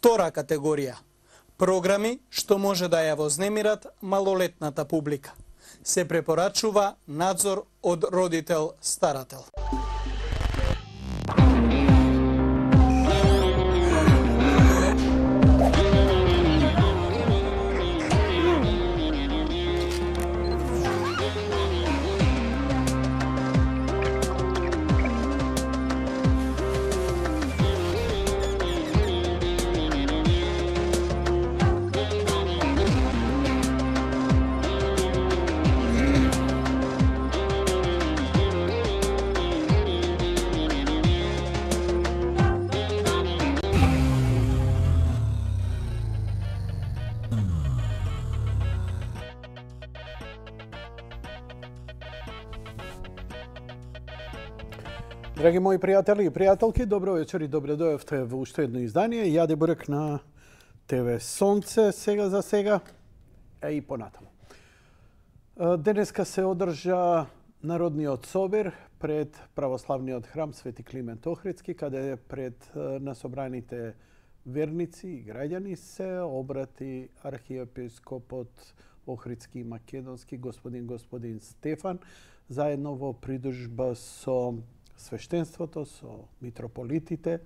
Втора категорија – програми што може да ја вознемират малолетната публика. Се препорачува надзор од родител-старател. Драги мои пријатели и пријателки, добро вечер и добре дојавте во уште едно издание. Јаде Бурек на ТВ Сонце сега за сега, и понатаму. Денеска се одржа Народниот собир пред православниот храм Свети Климент Охридски, каде пред насобраните верници и граѓани се обрати архиепископот Охридски и Македонски господин Стефан, заедно во придружба со свештенството, со митрополитите,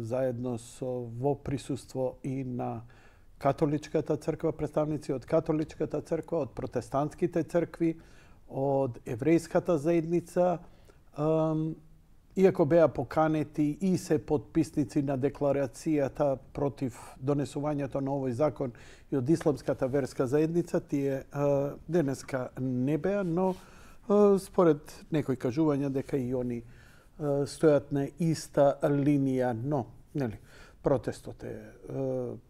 заедно со во присуство и на католичката црква, представници од католичката црква, од протестантските цркви, од еврејската заедница, иако беа поканети и се подписници на декларацијата против донесувањето на овој закон и од исламската верска заедница, тие денеска не беа, но според некои кажувања дека и они стојат на иста линија, но нели, протестот е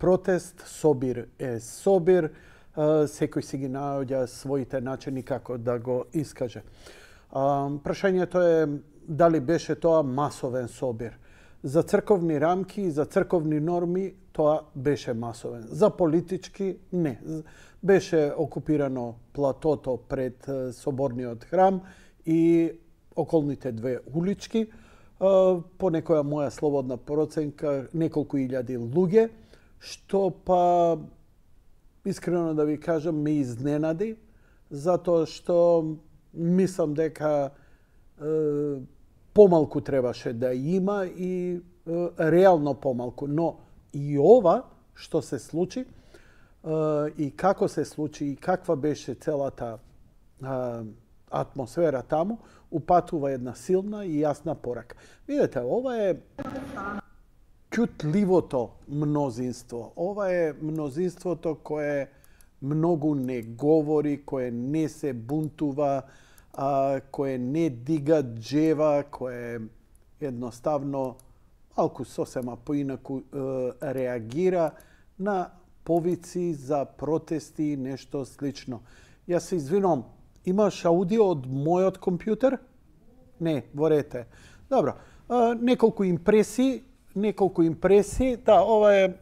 протест, собир е собир, секој си ги наоѓа своите начини како да го искаже. Прашањето е дали беше тоа масовен собир. За црковни рамки, за црковни норми тоа беше масовен. За политички не. Беше окупирано платото пред соборниот храм и околните две улички. По некоја моја слободна проценка, неколку илјади луѓе, што па, искрено да ви кажам, ме изненади, затоа што мислам дека помалку требаше да има и реално помалку. Но и ова што се случи, и како се случи и каква беше целата атмосфера таму, упатува една силна и јасна порака. Видете, ова е ќутливото мнозинство. Ова е мнозинството кое многу не говори, кое не се бунтува, кое не дига джева, кое едноставно малку сосема поинаку реагира на повици за протести и нешто слично. Јас се извинувам, имаш аудио од мојот компјутер? Не, ворете. Добро. Неколку импресии. Да, ова е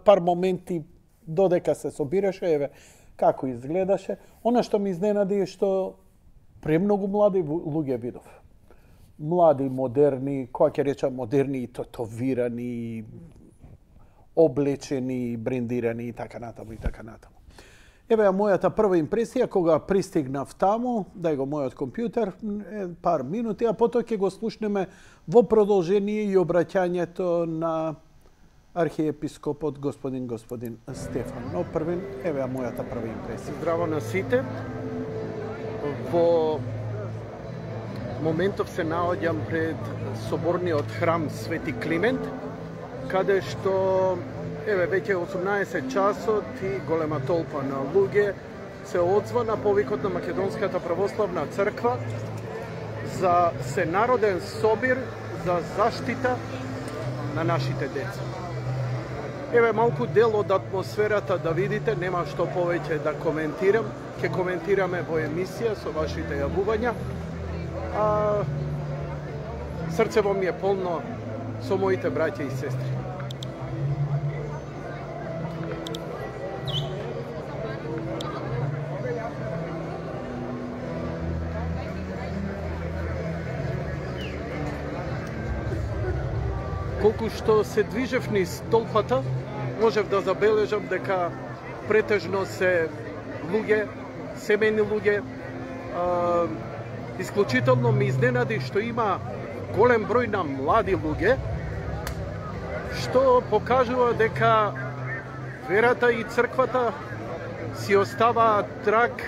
пар моменти додека се собираше, еве како изгледаше. Она што ми изненади е што премногу млади луѓе видов. Млади, модерни, која ќе речам модерни и тотовирани, облечени, брендирани и така натаму и така натаму. Еве мојата прва импресија кога пристигнав таму, дај го мојот компјутер, пар минути, а потоа ќе го слушнеме во продолжение и обраќањето на архиепископот господин Стефан. Но првен, еве мојата прва импресија. Здраво на сите. Во моментов се наоѓам пред соборниот храм Свети Климент, каде што еве веќе 18 часот и голема толпа на луѓе се одзва на повикот на Македонската православна црква за сенароден собир за заштита на нашите деца. Еве малку дел од атмосферата да видите, нема што повеќе да коментирам, ќе коментираме во емисија со вашите јавувања. Срцево ми е полно со моите браќа и сестри. колку што се движев низ толпата, можев да забележам дека претежно се луѓе, семејни луѓе. Исклучително ме изненади што има голем број на млади луѓе, што покажува дека верата и црквата си оставаат траг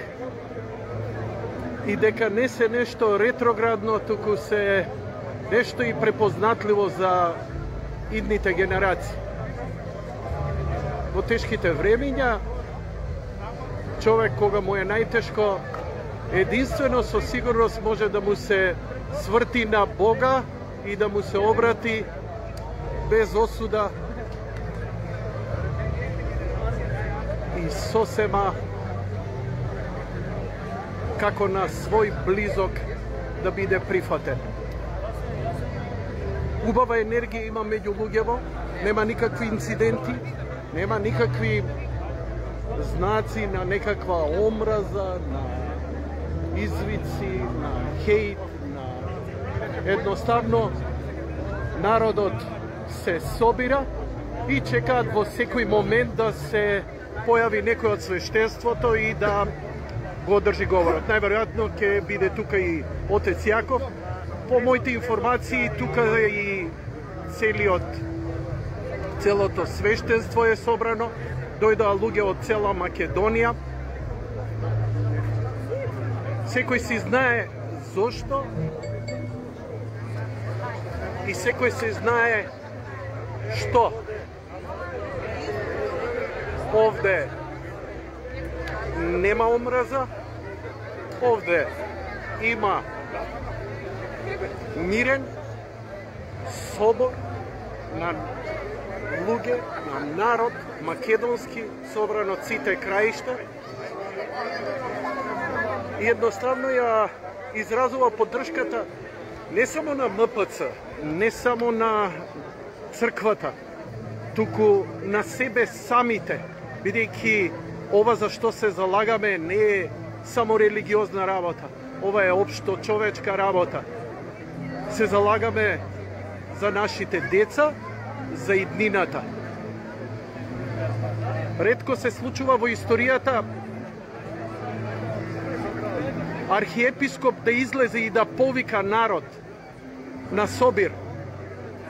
и дека не се нешто ретроградно, туку се нешто и препознатливо за идните генерации. Во тешките времиња, човек кога му е најтешко, единствено со сигурност може да му се сврти на Бога и да му се обрати без осуда и сосема како на свој близок да биде прифатен. Убава енергија има меѓу луѓево, нема никакви инциденти, нема никакви знаци на некаква омраза, на извици, на хејт, на... Едноставно, народот се собира и чекаат во секој момент да се појави некој од свештенството и да го одржи говорот. Најверојатно ќе биде тука и отец Јаков. По моите информации, тука и целото свештенство е собрано. Дојдоа луѓе од цела Македонија. Секој си знае зошто и секој си знае што. Овде нема омраза, овде има мирен собор на луѓе, на народ македонски, собран од сите краишта. И едноставно ја изразува поддршката не само на МПЦ, не само на црквата, туку на себе самите, бидејќи ова за што се залагаме не е само религиозна работа, ова е општо човечка работа. Се залагаме за нашите деца, за иднината. Ретко се случува во историјата архиепископ да излезе и да повика народ на собир,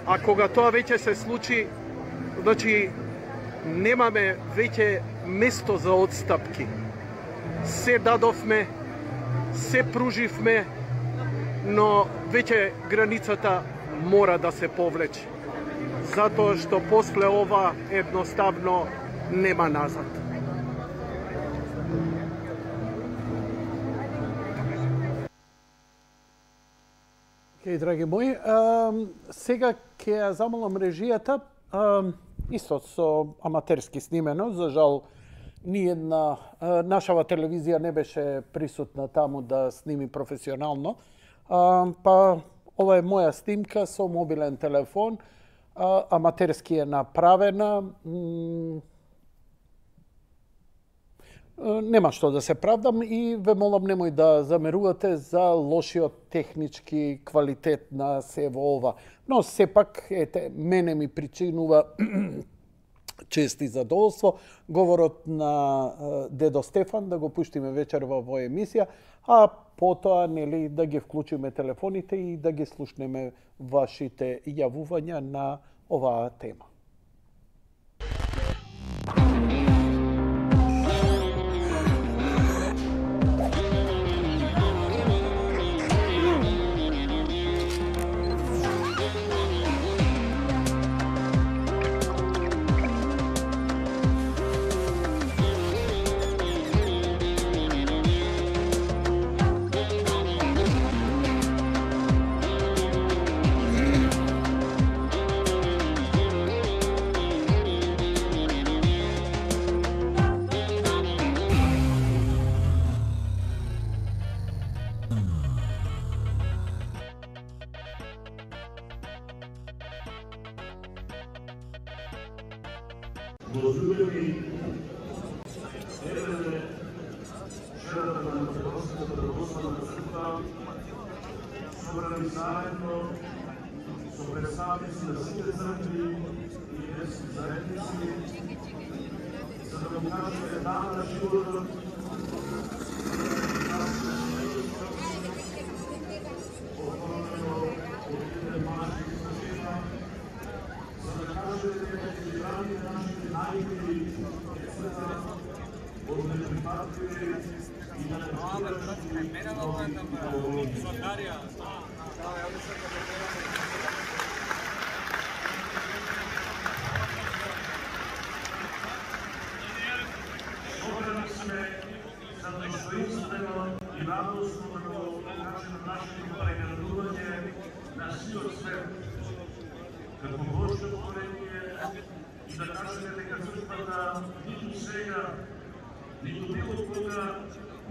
а кога тоа веќе се случи, значи немаме веќе место за отстапки. Се дадовме, се пруживме, но веќе границата мора да се повлече. Затоа што после ова едноставно нема назад. Океј, драги мои, сега ќе ја замолам режијата, исто со аматерски снимено, за жал ниедна нашава телевизија не беше присутна таму да сними професионално, па ова е моја снимка со мобилен телефон, аматерски е направена. Нема што да се правдам и ве молам немој да замерувате за лошиот технички квалитет на се во ова. Но сепак, ете, мене ми причинува чест и задоволство говорот на дедо Стефан да го пуштиме вечерва во емисија, а потоа нели да ги вклучиме телефоните и да ги слушнеме вашите јавувања на оваа тема. со представници на сите цркви и верски заедници, за да му кажеме да на животот, оформено од еден мажи и жена, за да кажеме дека ќе градите нашите најмили децата од неприпадливи и да не Собрани сме за достоинствено и радосно да го покажеме нашето преградување на сиот свет како Божјо творение и да кажеме дека црквата ниту сега, ниту било кога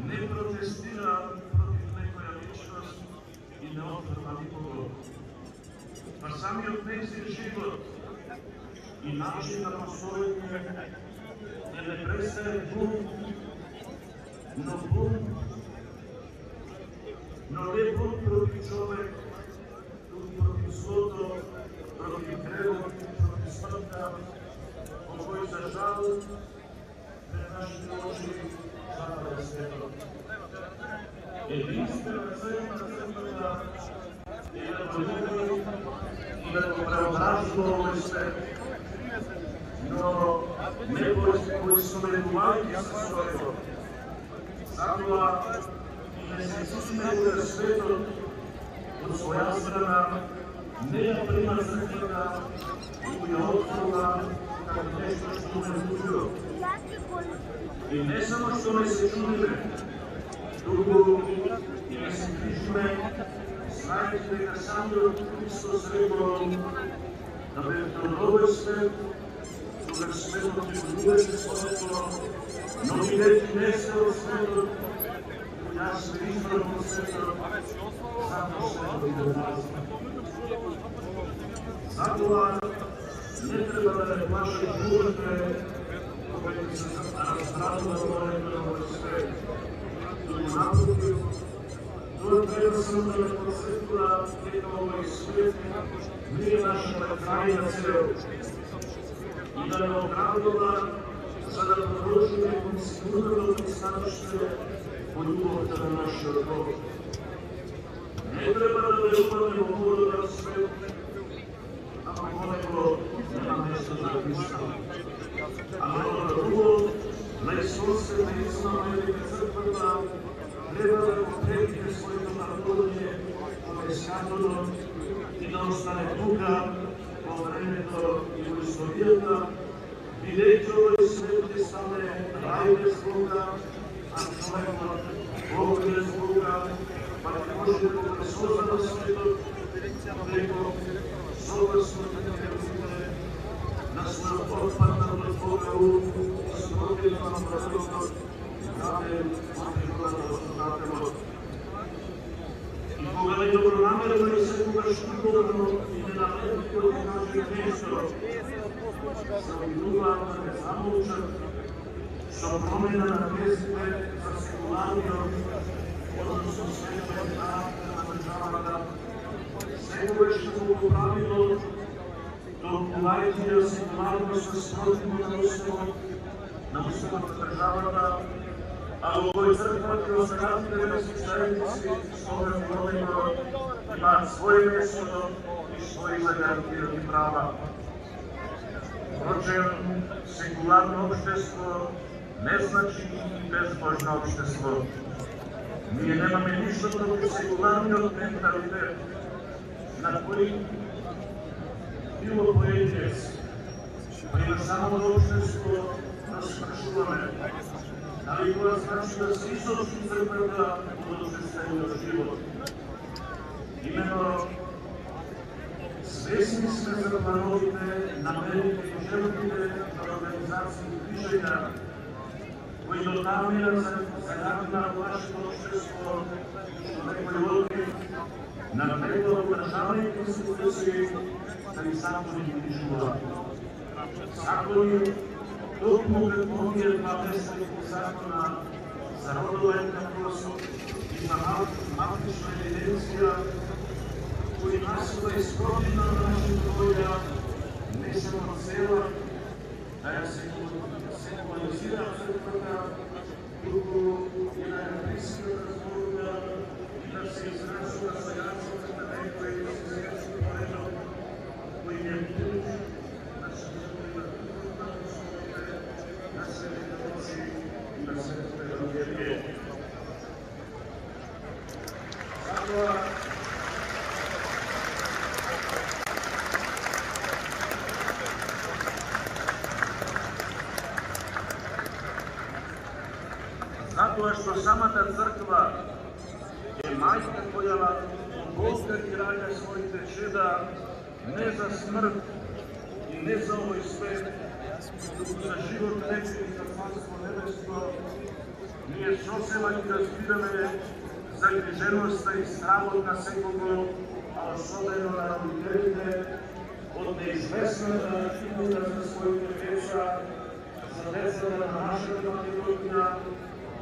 не протестира против некоја личност и не отврва никого. Па самиот нејзин живот и начин на постоење не престае бунт, но не бунт против човек, туку против злото, против гревот, против смртта, по кој за жал пред нашите очи запада светот. Единствена цел на црквата е да промени и да го преобразува овој свет, но не поистоветувајќи се со него. Затоа и не се изусмерува светот од своја страна, не ја прима црквата и ја отфрла како нешто што не чудило. И не само што не се чудиме, туку и не се грижиме, знаејќи дека самиот Христос рекол да бевте од овој свет, кога светот ќе го бидеше своето, но бидејќи не сте од светот, јас ве избрав од светот, затоа светот ви го пази. Затоа не треба да не плаши бурите, кога ќе се разградува волето на овој свет. Туку напротив, тоа треба само да не подсетува дека овој свет не е нашата крајна цел и да не оградува за да продолжиме кон сигурното пристаниште по љубовта на нашиот Бог. Не треба да веруваме во модерен свет, ако во него нема место за Христа. А много друго, најсонствена истина е дека црквата треба да потребите своето наполнение во Мескатото и да остане тука во времето и во историјата, бидејќи овој свет ќе стане рај без Бога, а човекот Бог без Бога, па ќе може да го пресозна светот преко согласното ќе на својот отпаднат од Бога ум, спротивно на правилот, граден од Дателот. И кога не добронамерно и секогаш любовно и ненамерно да кажи нешто, се обидуваат да не замолчат со промена на тезите за секуларниот, односно светот характер на државата, секогаш го поправило, толкувајќи ја секуларност спротивно на уставот на државата, а во овој црквата и останатите верски заедници со овој феномен имаат своје место и своји загарантирани права. Впрочем, секуларно општество не значи и безбожно општество. Ние немаме ништо против секуларниот менталитет, на кој било поединец, принационално општество да спрашуваме, дали тоа значи да се изолчи црквата од обществениот живот. Имено, свесни сме за плановите, намерите и желбите на организации и движења, кои дотамира загадна вашето общество, што некои логи на него од државните институции да ни закони ги движуваат. Закони токму како оние два месеци закона за родова еднаквост и за малтична евиденција кои насила искровина на нашата воја не само цела да ја секуларизира црквата, туку и да ја приска разборува и да се изразува за јаците на некои христијански поредок, кои не бидат на школите на Светите Ночи и на Светите Евангелие. Затоа што самата црква е мајка која Бога ги раѓа своите чеда не за смрт и не за овој свет, туку за живот вечен и за Царство небесно, ние сосема ги разбираме загриженоста и стравот на секого, а особено на родителите, од неизвестната идеја за своите деца, за децата на нашата Македонија,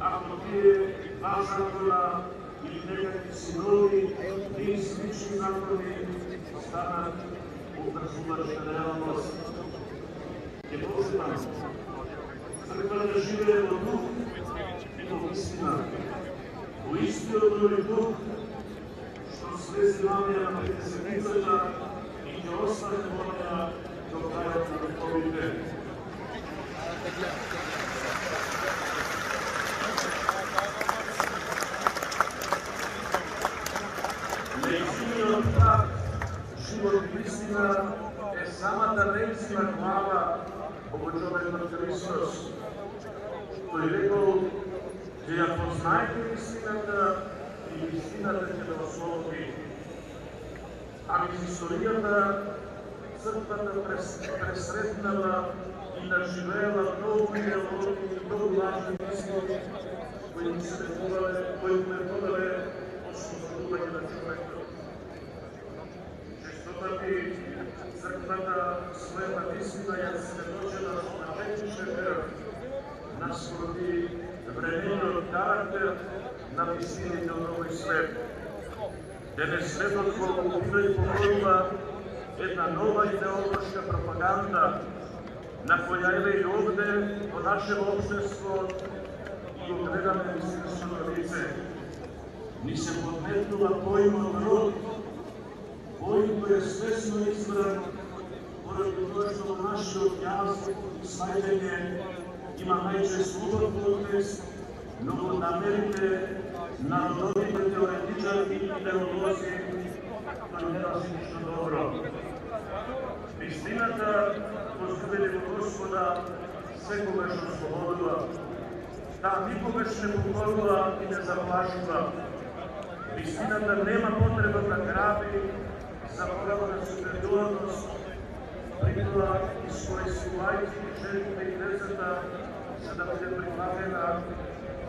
ако тие два закона или некакви синови и слични закони станат образувачна реалност. Ќе почитам црквата живее во дух и во истина, во истиот тој дух што слезе намија на Петдесетницата и ќе остане во неа до крајот на вековите. Неистиниот пат, живот и истина е самата неистина глава во човекот Христос. Тој рекол, че ја познаете истината и истината ќе да ослободи. А низ историјата црквата пресретнала и наживеела многу идеологии и многу лажни истини, кои се методале од служување на човекот. Честопати црквата својата истина ја сведочила на вечнише вера, наспроти времениот карактер на вистините од овој свет. Денес светот го окупира и покорува една нова идеолошка пропаганда, на која еве и овде во нашето општество и го гледаме вистинското лице. Ни се подметнува поимот род, кој е свесно избран, поради тоа што во нашиот јазик и сваѓање има најчесто убав контекст, но во намерите на родовите теоретичари и идеолози тој не важи ништо добро. Вистината, возлюбени во Господа, секогаш ослободува. Таа никогаш не покорува и не заплашува. Вистината нема потреба да граби за правна супериорност, притоа искористувајќи жените и децата за да биде прифатена,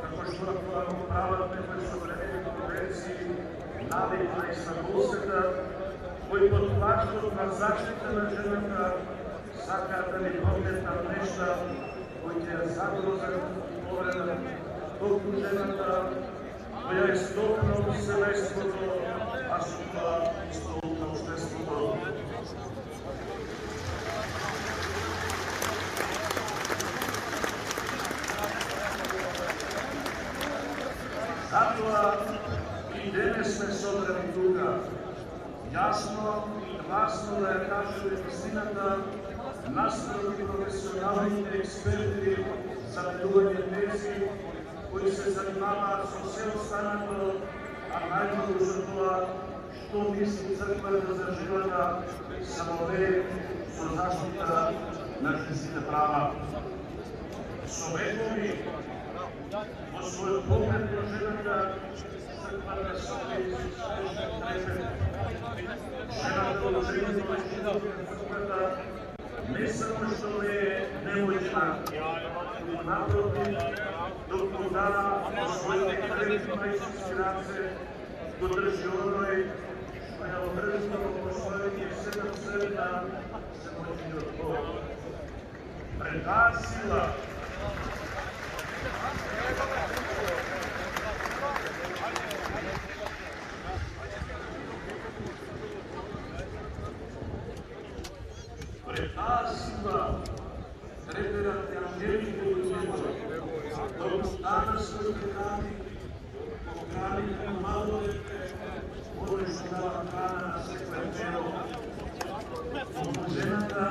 како што тоа го прават некои современи конвенции, навикна и Стамбулската, кои под плаштот на заштита на жената сакаат да ни прометнат нешта кои ќе ја загрозат и повредат толку жената, која е столна од семејството, а со тоа и столна општеството. Затоа и денес сме собрани тука, јасно и гласно да ја кажеме вистината наспроти професионалните експерти за делување тези кои се занимаваат со се останато, а најмногу за тоа што мисли црквата за живота само ве со заштита на женските права. Со векови во својот поглед на жената црквата се изуспешен трепет. Жената од жените во црквата не само што не е немојна, но напротив, доколку дава во своите крепни мајчински раце, го држи оној што ја одржува во своите 7 црвена семојниот Бог. Пред таа сила третерат ангелите и ангелите, док стана своите рани, поканите на мало дете, можеш да дава храна на секој тело. Жената,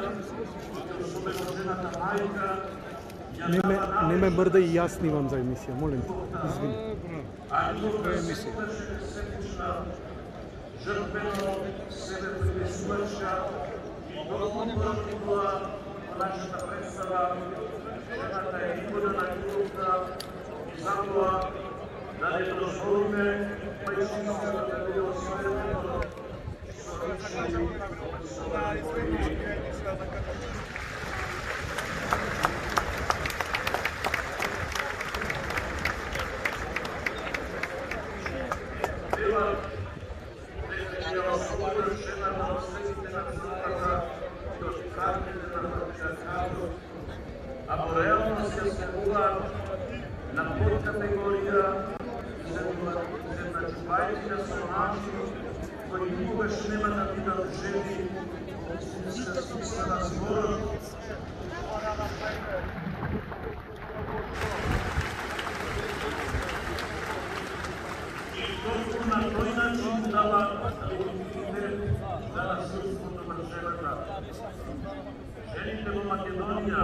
особено жената мајка, Не ме мрда и јас снимам за емисија, молим те. Извини. а њука себична, жртвено себе принесувача и толку проникла во нашата представа, жената е икона на љубовта и затоа да не дозволиме мајчинството да биде осветено со речи и со лагоди. Ако реално се следува на подкатегорија земначувајци со начини кои никогаш нема да бидат жени истинска смисла на зборот. И толку на тој начин дава легитимитет за насилството на жената. Жените во Македонија,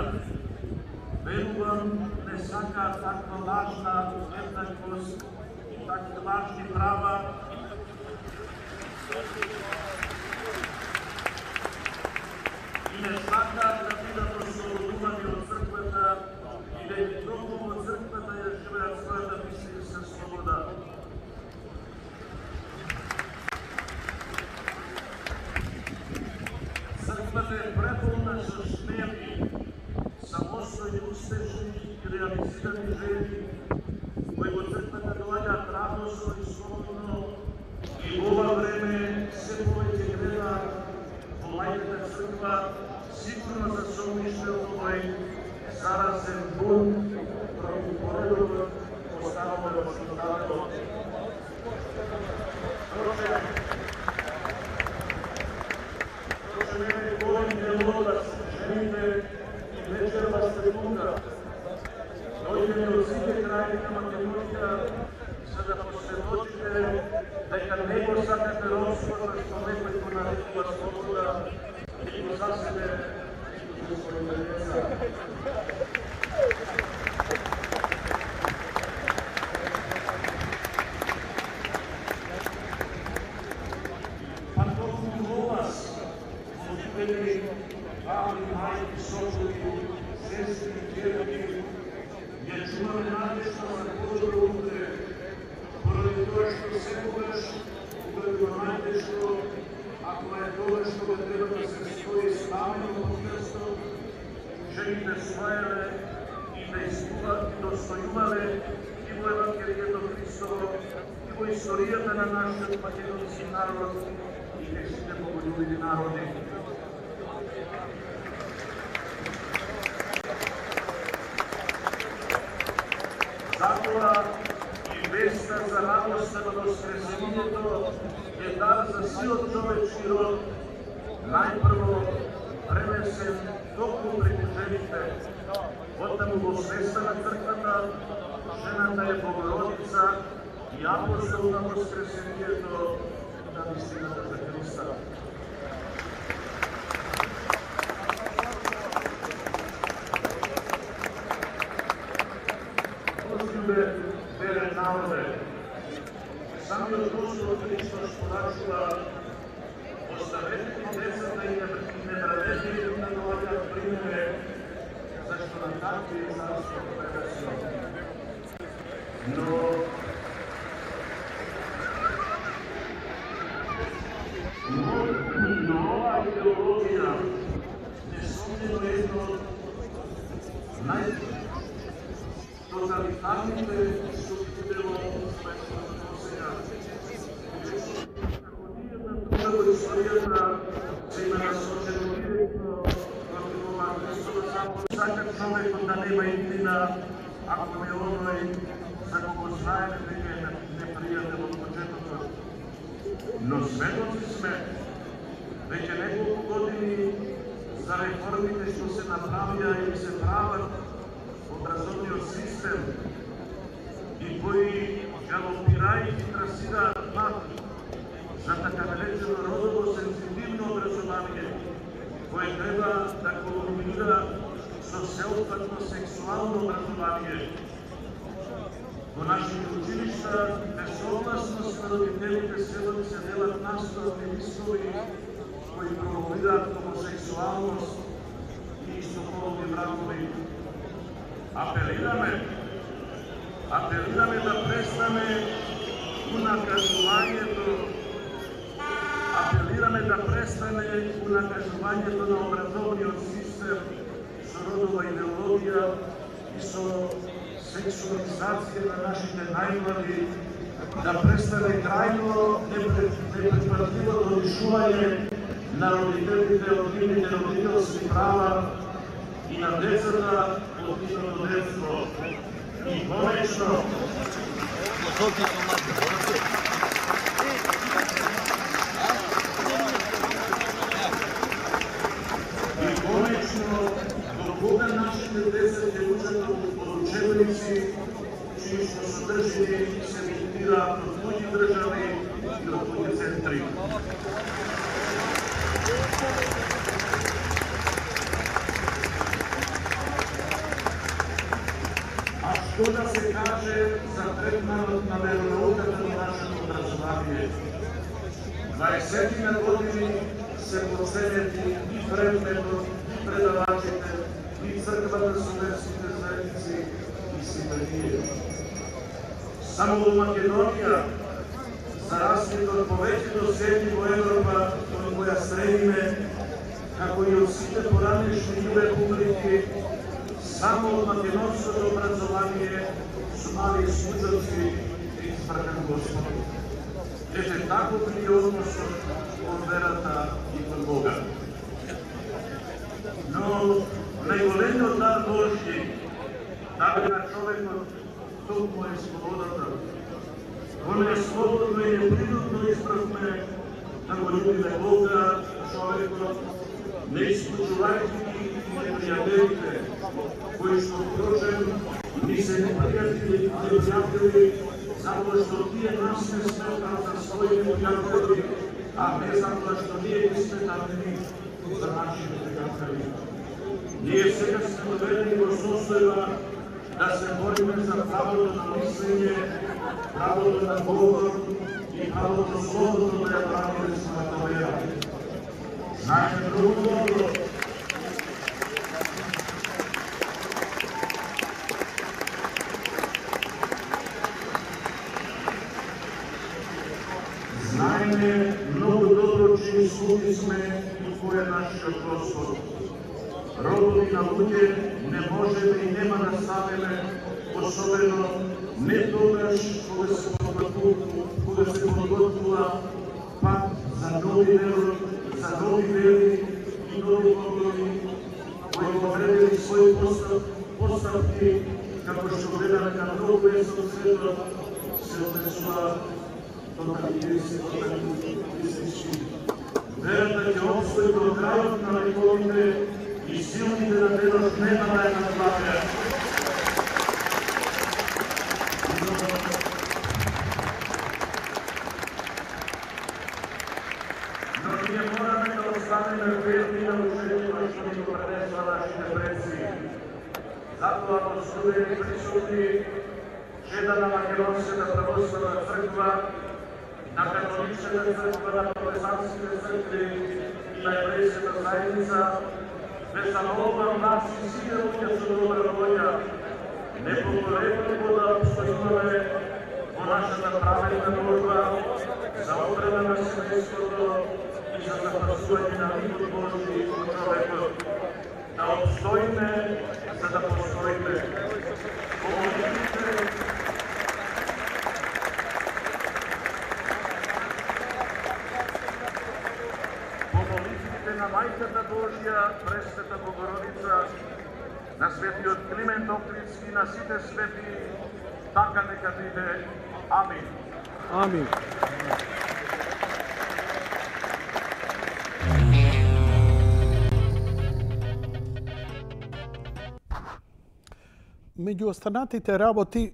верувам, не сакаат таква лажна еднаквост и такви лажни права. И не сакаат да бидат ослободувани од црквата и да ги толку во црквата ја живеат својата мислениска слобода. Црквата е преполна со смели, самостојни, успешни и реализирани жени, кои во црквата доаѓаат радосно и слободно и во ова време се повеќе гледаат во мајката црква, сигурно за сомниште овој заразен бунт против поредокот поставаме во Светотатот. Вечерва секунда, дојдеме од сите крајни на Македонија, за да посведочите дека не го сакате робството што некој го нарекува слобода и го засебе за своите деца. А толку во вас, родители, баби, мајки, сопруги, сестри, ќерки, ја чуваме надежда за подобро утре, поради тоа што секогаш, кога е најтешко, ако е тоа што го треба да се стои ставено во крстот, жените стоеле и да достојувале и во Евангелието Христово, и во историјата на нашиот македонски народ и нешите боголюбиви народи. Затоа и веста за радоста на воскресението е дар за сиот човечки род, најпрво пренесен токму преку жените. Оттаму во свеста на црквата, жената е Богородица и апостол на воскресението на вистината за Христа. Верен народе, самиот Господ Христос порачува, оставете ги децата и не правете ги да доаѓаат при мене, зашто на такви е Царството Небесно. Но ова идеологија несомнено е едно тоталитарните што бидело своето сега. Како историјата се има насочено директно против ова Христова закон. Сака човекот да нема иднина, ако не оној за кого знаеме дека е непријател од почетокот. Но сведоци сме, веќе неколку години за реформите што се направија и се прават образовниот систем и кои галопирајќи трасираат пат за така наречено родово сензитивно образование, кое треба да колаборира со сеопфатно сексуално образование. Во нашите училишта, без согласност на родителите се делат наставни листови кои промовираат хомосексуалност и истополни бракови. Апелираме да престане унакажувањето на образовниот систем со родова идеологија и со сексуализација на нашите најмлади, да престане крајно непредпатливото лишување на родителите од нивните родителски права и на децата од нивното детство. И конечно, до кога нашите деца ќе учат од учебници чии што содржини се емитираат од туѓи држави и од туѓи центри. А што да се каже за третманот на веронауката на нашето образование? 20 години се проценети и предметот, и предавачите, и црквата со верските заедници и симпатија. Само во Македонија, за разлика од повеќето земји во Европа, кои која стремиме, како и од сите поранешни републики, само од македонското образование со мали случајци и избракан Господ. Ете таков ли е односот од верата и кон Бога. Но најголемиот дар Божји, дар на човекот, толку е слободата. Кој е слободно и непринудно избравме да го љубиме Бога, човекот, не исклучувајќи ги и непријателите, кои што впрочем ни се непријатели, затоа што тие нас не сметат за своји пријатели, а не затоа што ние ги сметаме за нашите пријатели. Ние сега сме доведени во состојба да се бориме за правото на мислење, правото на говор и правото слободно да ја правиме својата вера. Знаеме многу добро чии слуги сме и кој е нашиот Господ. Робови на луѓе не можеме и нема да ставиме, особено не тогаш кога се подготвува пат за нови вери и нови погледи, кои повредили своји поставки, како што гледаме на многу место светот, се однесуваат тоталитаристички. Верата ќе обстои до крајот на вековите и силните на денот нема да ја надвладеат. Но ние мораме да останеме верни на учението што ни го пренесува нашите предци. Затоа во студени присутни чеда на Македонската православна црква, на католичката црква, на протестантските цркви и на еврејската заедница, ве замолувам нас и сите луѓе со добра волја, непоколебливо да обстојуваме во нашата праведна борба за одбрана на семејството и за запазување на мирот Божји во човекот. Да обстоиме за да постоиме. На Мајката Божја, Пресвета Богородица, на светиот Климент Охридски, на сите свети, така нека биде. Амин. Амин. меѓу останатите работи,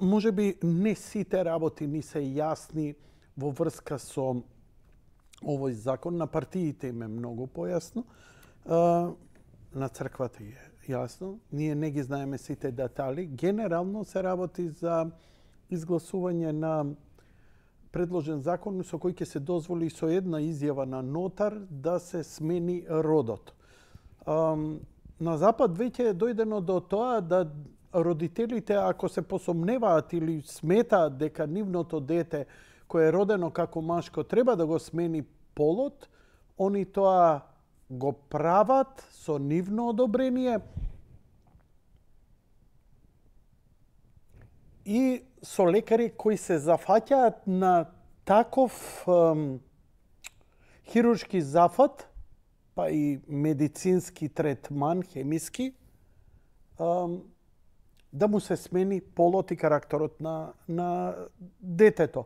може би не сите работи ни се јасни во врска со овој закон. На партиите им е многу појасно. На црквата е јасно. Ние не ги знаеме сите детали. Генерално се работи за изгласување на предложен закон со кој ќе се дозволи со една изјава на нотар да се смени родот. На Запад веќе е дојдено до тоа да родителите, ако се посомневаат или сметаат дека нивното дете кое е родено како машко треба да го смени полот, они тоа го прават со нивно одобрение и со лекари кои се зафаќаат на таков хируршки зафат, па и медицински третман, хемиски, да му се смени полот и карактерот на детето.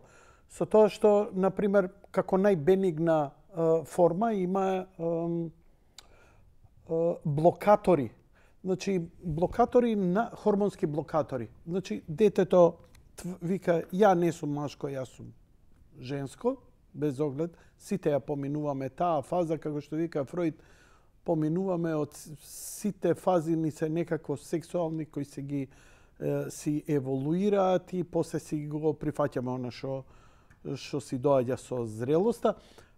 Со тоа што, например, како најбенигна форма има блокатори. Значи, блокатори на хормонски блокатори. Значи, детето вика, ја не сум машко, јас сум женско, без оглед. Сите ја поминуваме таа фаза, како што вика Фроид, поминуваме од сите фази ни се некако сексуални кои се ги си еволуираат и после си го прифаќаме она што си доаѓа со зрелоста.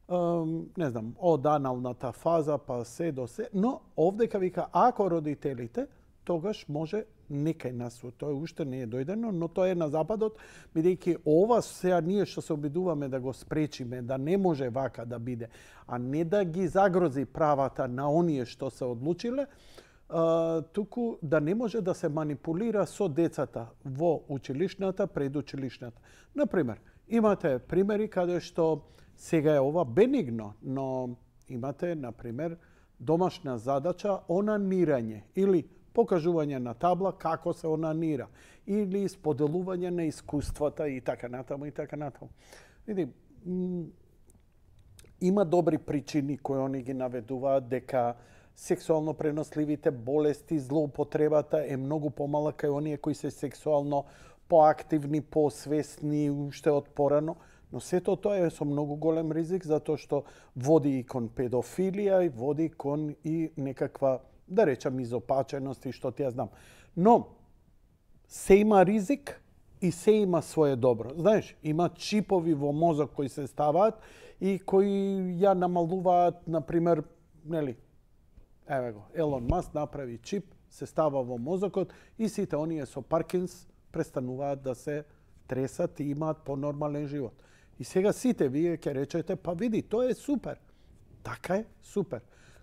Не знам, од аналната фаза па се до се, но овдека вика ако родителите, тогаш може некај нас, тоа уште не е дојдено, но тоа е на Западот, бидејќи ова сега ние што се обидуваме да го спречиме, да не може вака да биде, а не да ги загрози правата на оние што се одлучиле, туку да не може да се манипулира со децата во училишната, предучилишната. Например, имате примери каде што сега е ова бенигно, но имате, например, домашна задача онанирање или покажување на табла како се онанира или споделување на искуствата и така натаму и така натаму. Види, има добри причини кои они ги наведуваат дека сексуално преносливите болести, злоупотребата е многу помала кај оние кои се сексуално поактивни, посвесни уште од порано, но сето тоа е со многу голем ризик затоа што води и кон педофилија и води кон и некаква, да речам, изопаченост и што ти ја знам. Но се има ризик и се има свое добро. Знаеш, има чипови во мозок кои се ставаат и кои ја намалуваат, например, нели, еве го, Елон Маск направи чип, се става во мозокот и сите оние со Паркинс престануваат да се тресат и имаат понормален живот. И сега сите вие ќе речете, па види, тоа е супер. Така е, супер.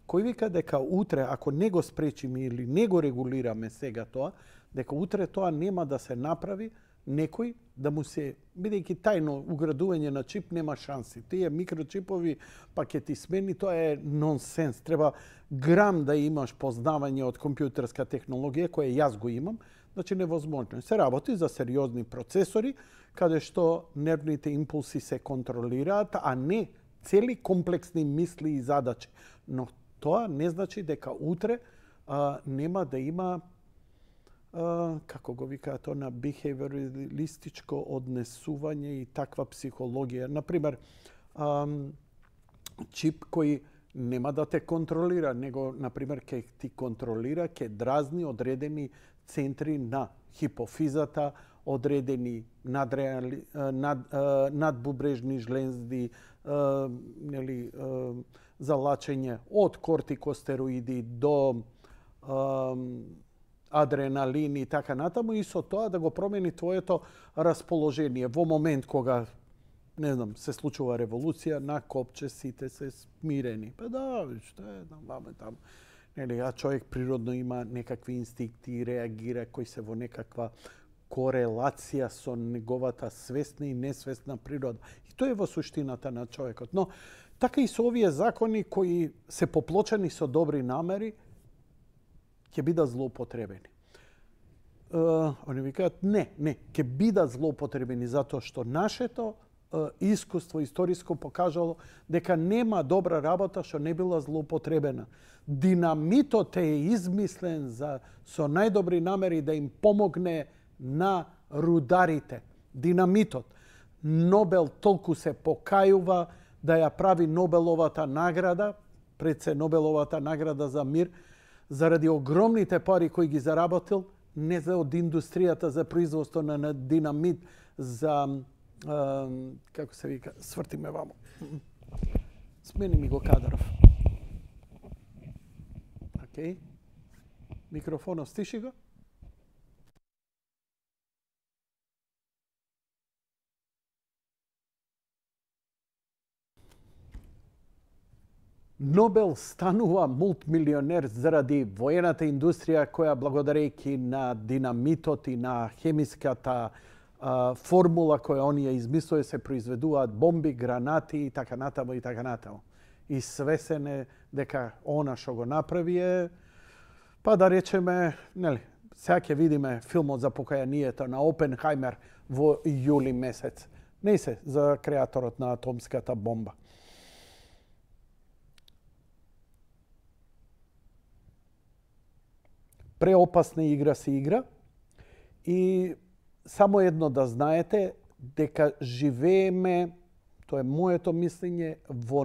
Кој вика дека утре, ако не го спречиме или не го регулираме сега тоа, дека утре тоа нема да се направи, некој да му се, бидејќи тајно уградување на чип нема шанси. Тие микрочипови па ќе ти смени, тоа е нонсенс. Треба грам да имаш познавање од компјутерска технологија, која јас го имам, значи невозможно. Се работи за сериозни процесори, каде што нервните импулси се контролираат, а не цели комплексни мисли и задачи. Но тоа не значи дека утре нема да има како го викаат тоа на бихевиоралистичко однесување и таква психологија. Например, чип кој нема да те контролира, него, например, ќе ти контролира, ќе дразни одредени центри на хипофизата, одредени надбубрежни жлензди, нели, залачење од кортикостероиди до адреналин и така натаму, и со тоа да го промени твоето расположение. Во момент кога, не знам, се случува револуција, на копче сите се смирени. Па да, што е, ваме таму. Нели, а човек природно има некакви инстинкти и реагира кои се во некаква корелација со неговата свесна и несвесна природа. И тоа е во суштината на човекот. Но така и со овие закони кои се поплочени со добри намери, ќе бидат злоупотребени. Они викаат, не, ќе бидат злоупотребени затоа што нашето искуство историско покажало дека нема добра работа што не била злоупотребена. Динамитот е измислен со најдобри намери да им помогне на рударите. Динамитот. Нобел толку се покајува да ја прави Нобеловата награда, пред се Нобеловата награда за мир, заради огромните пари кои ги заработил, не за од индустријата за производство на динамит, за како се вика, сврти ме вамо. Смени ми го Кадаров. Океј. Микрофонот стиши го. Нобел станува мултмилионер заради воената индустрија која благодарејќи на динамитот и на хемиската формула која оние измислува се произведуваат бомби, гранати и така натаму и така натаму. И свесене дека она што го направи е, па да речеме, нели, сега ќе видиме филмот за покајанието на Опенхаймер во јули месец. Не се за креаторот на атомската бомба. Преопасна игра се игра и само едно да знаете дека живееме, тоа е моето мислење, во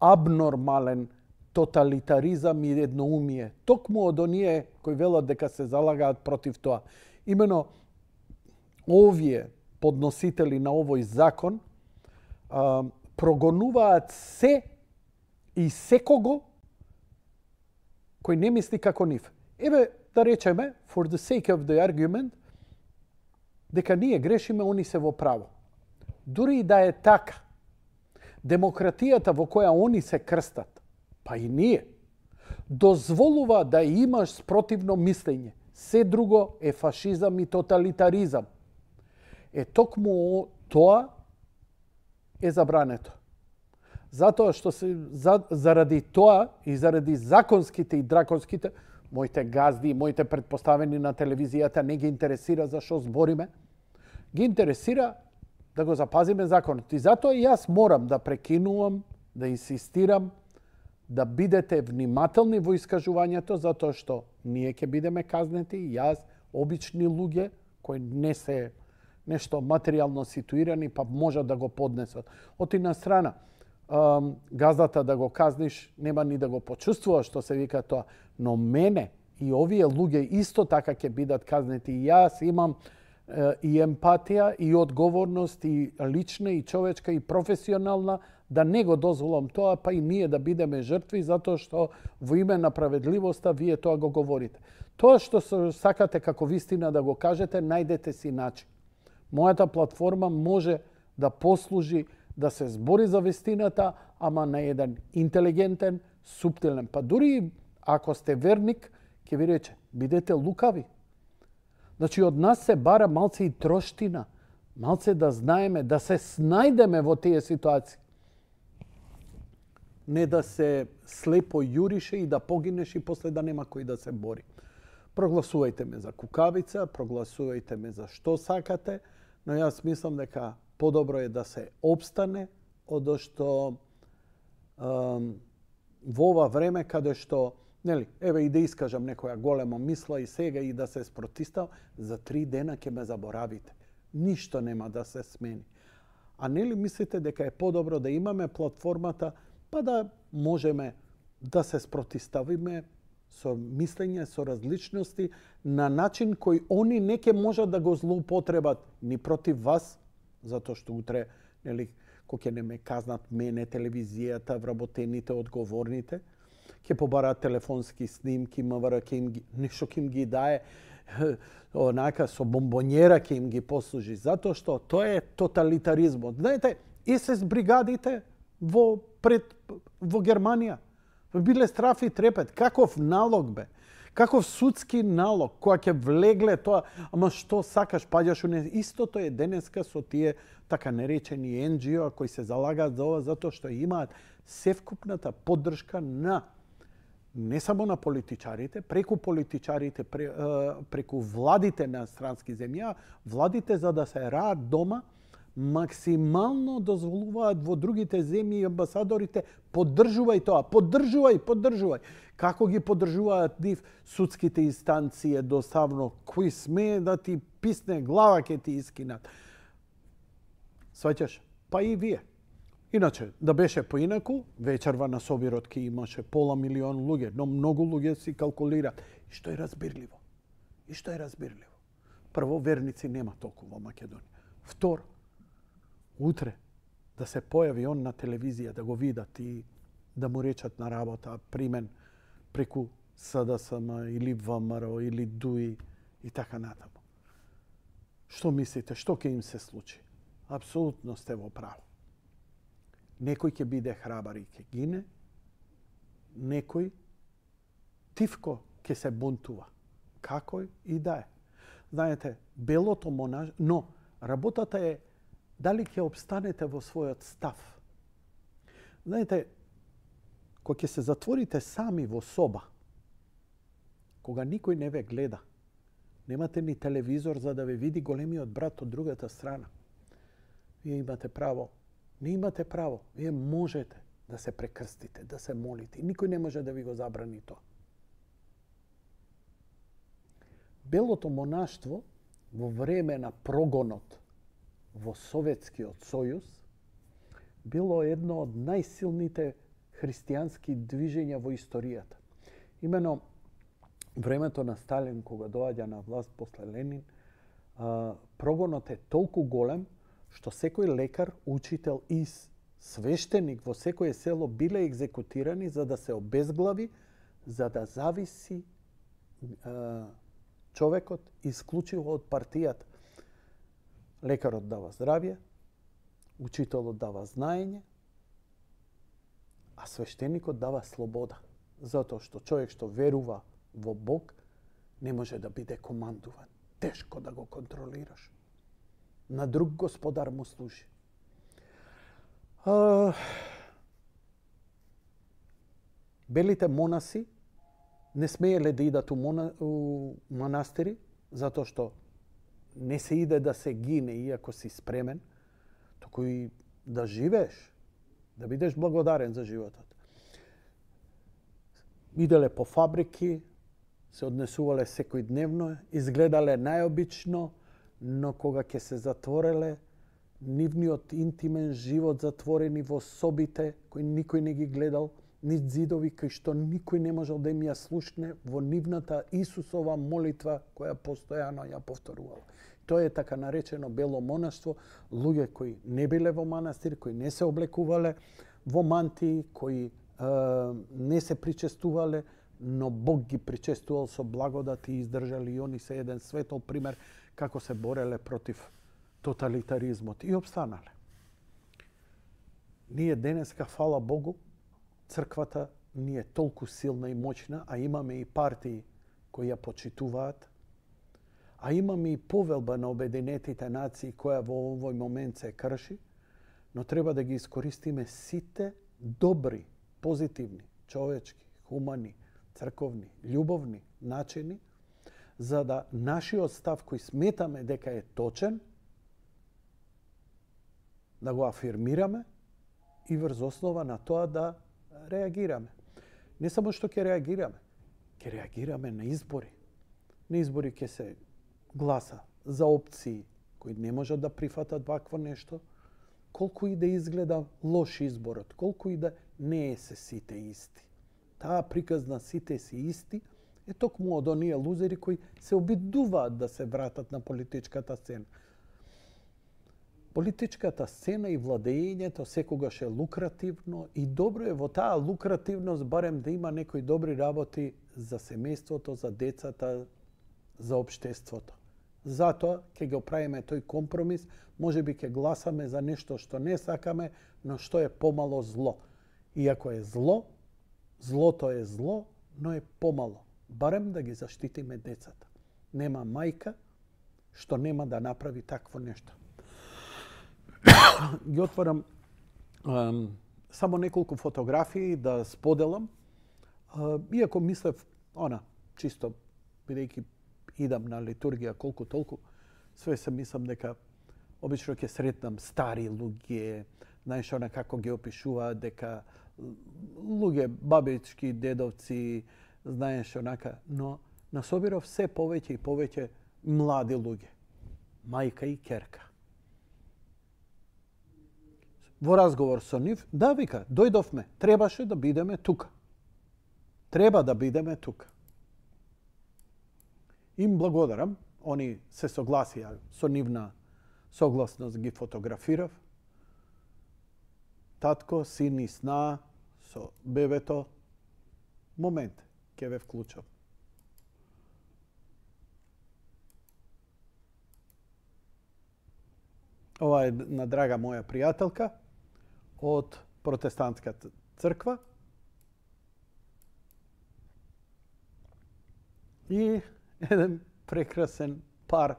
абнормален тоталитаризам и едноумие. Токму од оние кои велат дека се залагаат против тоа. Имено овие подносители на овој закон прогонуваат се и секого кој не мисли како нив. Еве, да речеме, for the sake of the argument, дека ние грешиме, они се во право. Дури и да е така, демократијата во која они се крстат, па и ние, дозволува да имаш спротивно мислење. Се друго е фашизам и тоталитаризам. Токму тоа е забрането. Затоа што заради тоа и заради законските и драконските, моите газди и моите предпоставени на телевизијата не ги интересира за што збориме, ги интересира да го запазиме законот. И затоа и јас морам да прекинувам, да инсистирам, да бидете внимателни во искажувањето, затоа што ние ќе бидеме казнети, јас, обични луѓе, кои не се нешто материјално ситуирани, па можат да го поднесат. Од една страна, газдата да го казниш, нема ни да го почувствува што се вика тоа. Но мене и овие луѓе исто така ќе бидат казнети. Јас имам и емпатија, и одговорност, и лична, и човечка, и професионална, да не го дозволам тоа, па и ние да бидеме жртви, затоа што во име на справедливоста вие тоа го говорите. Тоа што сакате како вистина да го кажете, најдете си начин. Мојата платформа може да послужи да се збори за вистината, ама на еден интелигентен, суптилен. Па дури ако сте верник, ќе ви рече, бидете лукави. Значи, од нас се бара малце и троштина, малце да знаеме, да се снајдеме во тие ситуации. Не да се слепо јурише и да погинеш и после да нема кој да се бори. Прогласувајте ме за кукавица, прогласувајте ме за што сакате, но јас мислам дека подобро е да се обстане, одошто во ова време каде што, нели, еве и да искажам некоја голема мисла и сега и да се спротистав, за 3 дена ќе ме заборавите. Ништо нема да се смени. А нели мислите дека е подобро да имаме платформата, па да можеме да се спротиставиме со мислење, со различности, на начин кој они не ќе можат да го злоупотребат ни против вас, затоа што утре, нели, кој ќе не ме казнат мене, телевизијата, вработените, одговорните, ќе побараат телефонски снимки, МВР ќе им ги, нешто ќе им ги дае, онака со бомбонјера ќе им ги послужи, затоа што тоа е тоталитаризмот. Знаете, СС бригадите во Германија биле страф и трепет. Каков налог бе? Каков судски налог, која ќе влегле тоа, ама што сакаш, паѓаш у не. Истото е денеска со тие така наречени NGO кои се залагаат за ова, затоа што имаат севкупната поддршка на не само на политичарите, преку политичарите, преку владите на странски земји, владите за да се раат дома, максимално дозволуваат во другите земји и амбасадорите поддржувај тоа, поддржувај. Како ги поддржуваат нив судските инстанции едноставно, кој смее да ти писне глава ќе ти искинат. Сваќаш? Па и вие. Иначе, да беше поинаку, вечерва на собирот ки имаше пола милион луѓе, но многу луѓе си калкулираат. И што е разбирливо? Прво, верници нема толку во Македонија. Второ, утре да се појави он на телевизија, да го видат и да му речат на работа примен преку СДСМ или ВМРО или ДУИ и така натаму. Што мислите, што ќе им се случи? Апсолутно сте во право. Некој ќе биде храбар и ќе гине, некој тивко ќе се бунтува. Како и да е. Знаете, белото монаш... Но, работата е дали ќе обстанете во својот став. Знаете, кога ќе се затворите сами во соба, кога никој не ве гледа, немате ни телевизор за да ве види големиот брат од другата страна, вие имате право. Не имате право. Вие можете да се прекрстите, да се молите. Никој не може да ви го забрани тоа. Белото монаштво во време на прогонот во Советскиот сојуз било едно од најсилните христијански движења во историјата. Имено времето на Сталин, кога доаѓа на власт после Ленин, прогонот е толку голем што секој лекар, учител и свештеник во секое село биле екзекутирани за да се обезглави, за да зависи човекот исклучиво од партијата. Лекарот дава здравје, учителот дава знаење, а свештеникот дава слобода. Затоа што човек што верува во Бог не може да биде командуван. Тешко да го контролираш. На друг господар му служи. Белите монаси не смееле да идат у манастири, затоа што не се иде да се гине иако си спремен, току и да живееш, да бидеш благодарен за животот. Иделе по фабрики, се однесувале секојдневно, изгледале најобично, но кога ќе се затвореле, нивниот интимен живот затворени во собите, кои никој не ги гледал, ни зидови кои што никој не можел да им ја слушне во нивната Исусова молитва која постојано ја повторувала. Тоа е така наречено бело монаштво, луѓе кои не биле во манастир, кои не се облекувале во мантии, кои не се причестувале, но Бог ги причестувал со благодат и издржали и они се еден светол пример како се бореле против тоталитаризмот и обстанале. Ние денеска, фала Богу, црквата ни е толку силна и моćна, а имаме и партии кои ја почитуваат, а имаме и повелба на Обединетите нации која во овој момент се крши, но треба да ги искористиме сите добри, позитивни, човечки, хумани, црковни, љубовни начини, за да нашиот став кој сметаме дека е точен, да го афирмираме и врз основа на тоа да реагираме. Не само што ќе реагираме на избори. На избори ќе се гласа за опции кои не можат да прифатат вакво нешто, колку и да изгледа лош изборот, колку и да не е се сите исти. Таа приказ на сите си исти е токму од оние лузери кои се обидуваат да се вратат на политичката сцена. Политичката сцена и владењето секогаш е лукративно и добро е во таа лукративност барем да има некои добри работи за семејството, за децата, за општеството. Затоа ќе го правиме тој компромис, можеби ќе гласаме за нешто што не сакаме, но што е помало зло. Иако е зло, злото е зло, но е помало. Барем да ги заштитиме децата. Нема мајка што нема да направи такво нешто. Ги отворам само неколку фотографии да споделам. Иако мислев, чисто, бидејќи идам на литургија колку толку, све се мислам дека обично ќе сретнам стари луѓе, знаеш она како ги опишуваат дека луѓе, бабички, дедовци, знаеш онака, но насобирав се повеќе и повеќе млади луѓе, мајка и ќерка. Во разговор со нив, да, вика, дојдовме, требаше да бидеме тука. Треба да бидеме тука. Им благодарам, они се согласија со нивна согласност, ги фотографирав. Татко, син и сна со бебето. Момент, ќе ве вклучам. Ова е на драга моја пријателка од протестантската црква. И еден прекрасен пар,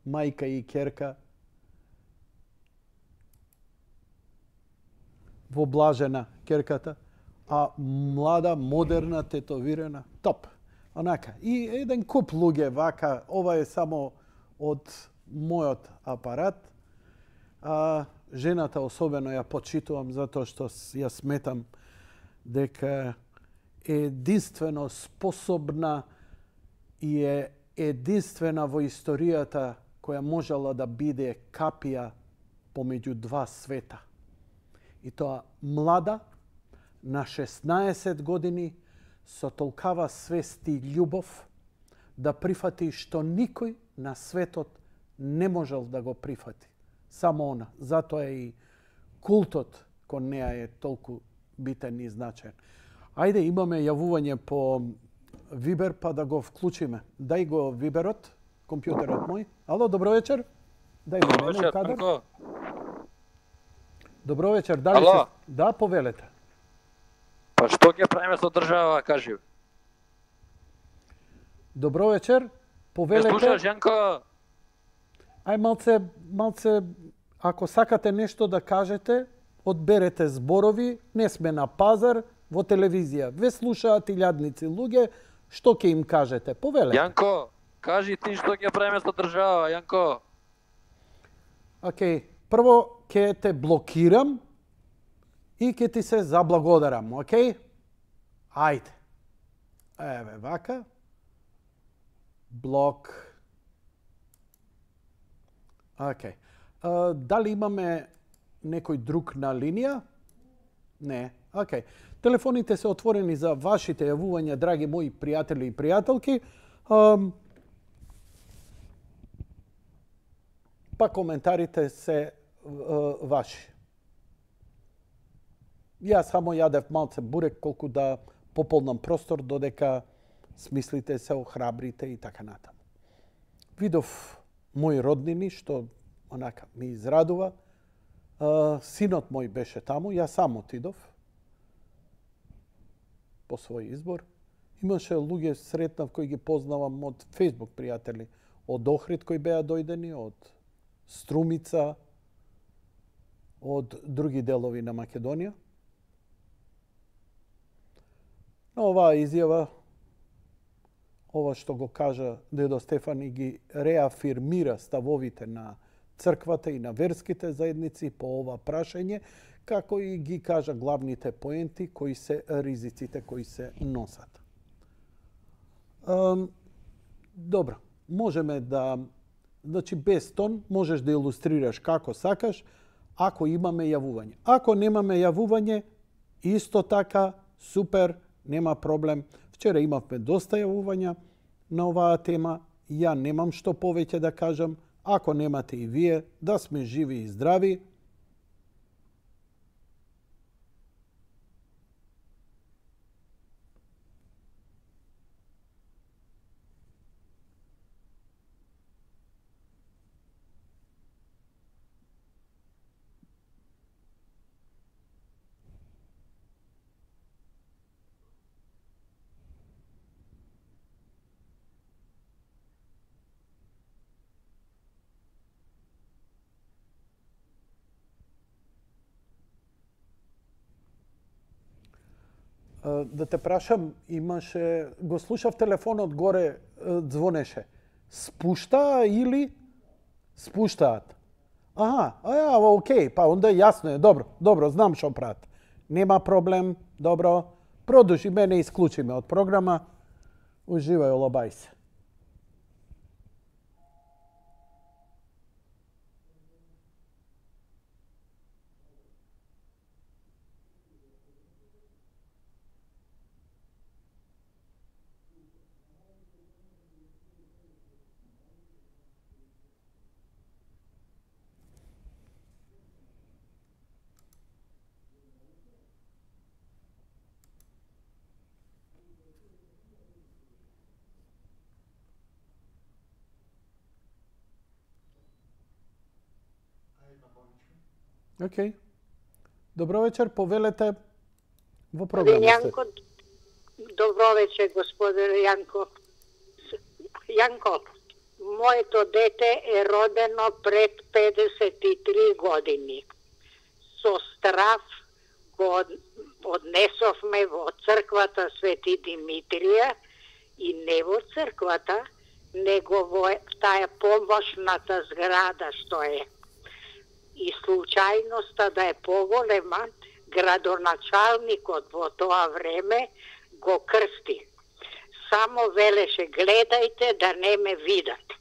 мајка и ќерка, воблажена ќерката, а млада, модерна, тетовирана, топ. Онака. И еден куп луѓе вака, ова е само од мојот апарат. Жената особено ја почитувам затоа што ја сметам дека е единствено способна и е единствена во историјата која можела да биде капија помеѓу два света. И тоа млада, на 16 години, со толкава свест и љубов, да прифати што никој на светот не можел да го прифати. Само она. Затоа и култот кон неа е толку битен и значаен. Ајде, имаме јавување по Вибер, па да го вклучиме. Дај го Виберот, компјутерот мој. Ало, добро вечер. Дај го мене кадар. Добро вечер, дали се... Да, повелете. Па што ќе правиме со држава, кажи. Добро вечер, повелете. Ме слушаш, Јанко? Ај малце, ако сакате нешто да кажете, одберете зборови, не сме на пазар, во телевизија. Ве слушаат илјадници луѓе, што ќе им кажете? Повелете. Јанко, кажи ти што ќе правиме со држава, Јанко. Океј, прво ќе те блокирам и ќе ти се заблагодарам, океј? Ајде. Еве вака. Блок. Океј. Дали имаме некој друг на линија? Не. Океј. Телефоните се отворени за вашите јавувања, драги мои пријатели и пријателки. Па коментарите се ваши. Јас само јадев малце бурек колку да пополнам простор додека смислите се охрабрите и така натаму. Видов мои роднини што онака ми израдува. Синот мој беше таму, јас сам отидов по свој избор. Имаше луѓе сретнав кои ги познавам од Facebook пријатели, од Охрид кои беа дојдени, од Струмица, од други делови на Македонија. Оваа изјава, ова што го кажа дедо Стефан и ги реафирмира ставовите на црквата и на верските заедници по ова прашање, како и ги кажа главните поенти кои се ризиците кои се носат. Добро, можеме да, значи без тон, можеш да илустрираш како сакаш, ако имаме јавување. Ако немаме јавување, исто така, супер, нема проблем. Вчера имавме доста јавувања на оваа тема. Ја немам што повеќе да кажам. Ако немате и вие, да сме живи и здрави. Да те прашам, имаше, го слушав телефонот горе, звонеше. Спуштаа или спуштаат? Окей, па онда јасно е, добро, знам што прат. Нема проблем, добро. Продолжи, мене исклучиме од програма. Уживај, олабај се. Океј. Добро вечер, повелете во програмата. Јанко, добро вечер, господин Јанко. Јанко, моето дете е родено пред 53 години. Со страв го однесовме во црквата Свети Димитрија и не во црквата, него во таа помошната зграда што е. И случајноста да е поголема, градоначалникот во тоа време го крсти. Само велеше, гледајте да не ме видат.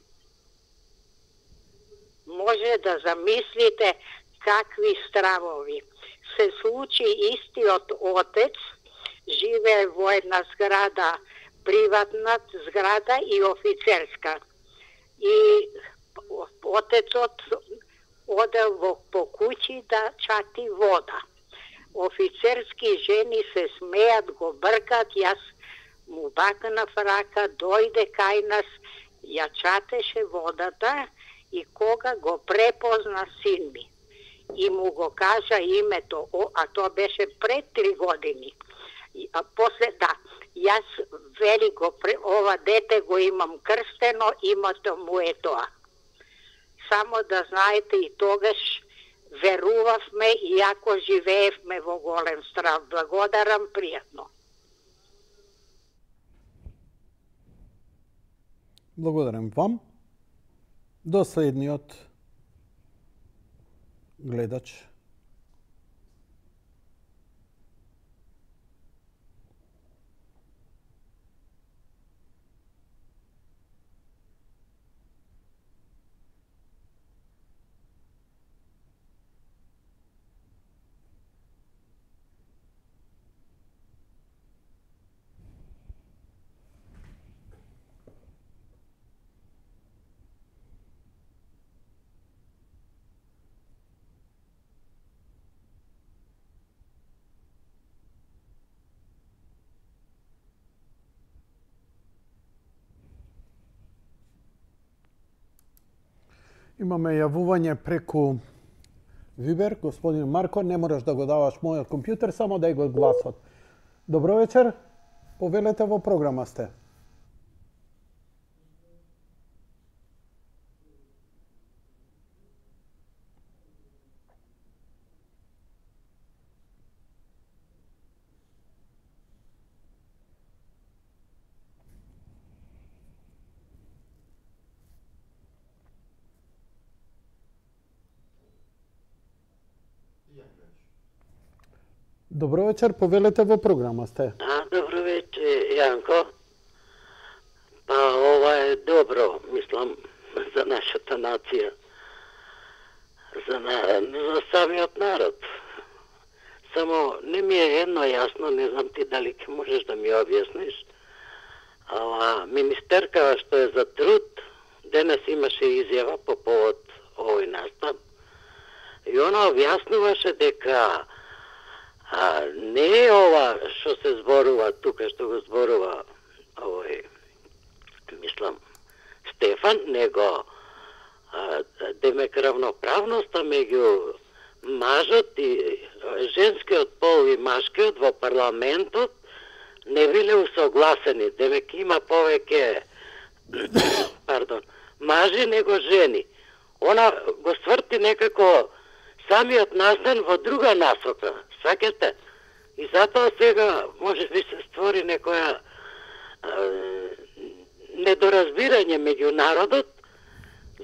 Може да замислите какви стравови. Се случи истиот отец, живее во една зграда, приватна зграда и офицерска. И отецот одел по куќи да чати вода. Офицерски жени се смеат, го бркат, јас му бакнав рака, дојде кај нас, ја чатеше водата и кога го препозна син ми и му го кажа името, а тоа беше пред 3 години. А после јас вели го ова дете го имам крстено, името му е тоа. Само да знаете и тогаш верувавме, иако живеевме во голем страв. Благодарам, пријатно. Благодарам вам. До следниот гледач. Имаме јавување преку Вибер. Господин Марко, не мораш да го даваш мојот компјутер, само дај го гласот. Добро вечер, повелете во програма сте. Добро вечер, повелете во програма сте. Добро вечер, Јанко. Па ова е добро, мислам, за нашата нација. За самиот народ. Само не ми е едно јасно, не знам ти дали ќе можеш да ми објасниш. Ала министеркава што е за труд, денес имаше изјава по повод овој настан. И она објаснуваше дека не е ова што се зборува тука, што го зборува овој, мислам, Стефан, него демек равноправноста меѓу мажот и женскиот пол и машкиот во парламентот не биле усогласени. Демек има повеќе мажи него жени. Она го сврти некако самиот настан во друга насока. Сваќате? И затоа сега може би се створи некоја недоразбирање меѓу народот,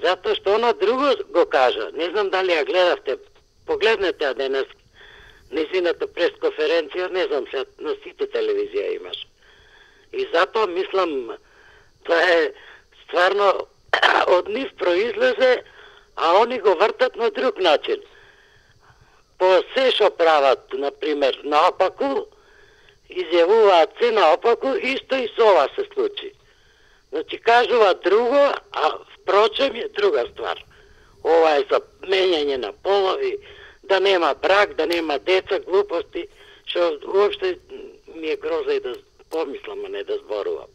Затоа што она друго го кажа. Не знам дали ја гледавте. Погледнете ја денес незината пресконференција, не знам сега на сите телевизија имаш. И затоа мислам, тоа е стварно од нив произлезе, а они го вртат на друг начин. По се што прават, например, наопаку, изјавуваат се наопаку, исто и со ова се случи. Значи, кажуваат друго, а впрочем е друга ствар. Ова е за менјање на полови, да нема брак, да нема деца, глупости, што уопште ми е гроза и да помислам, а не да зборувам.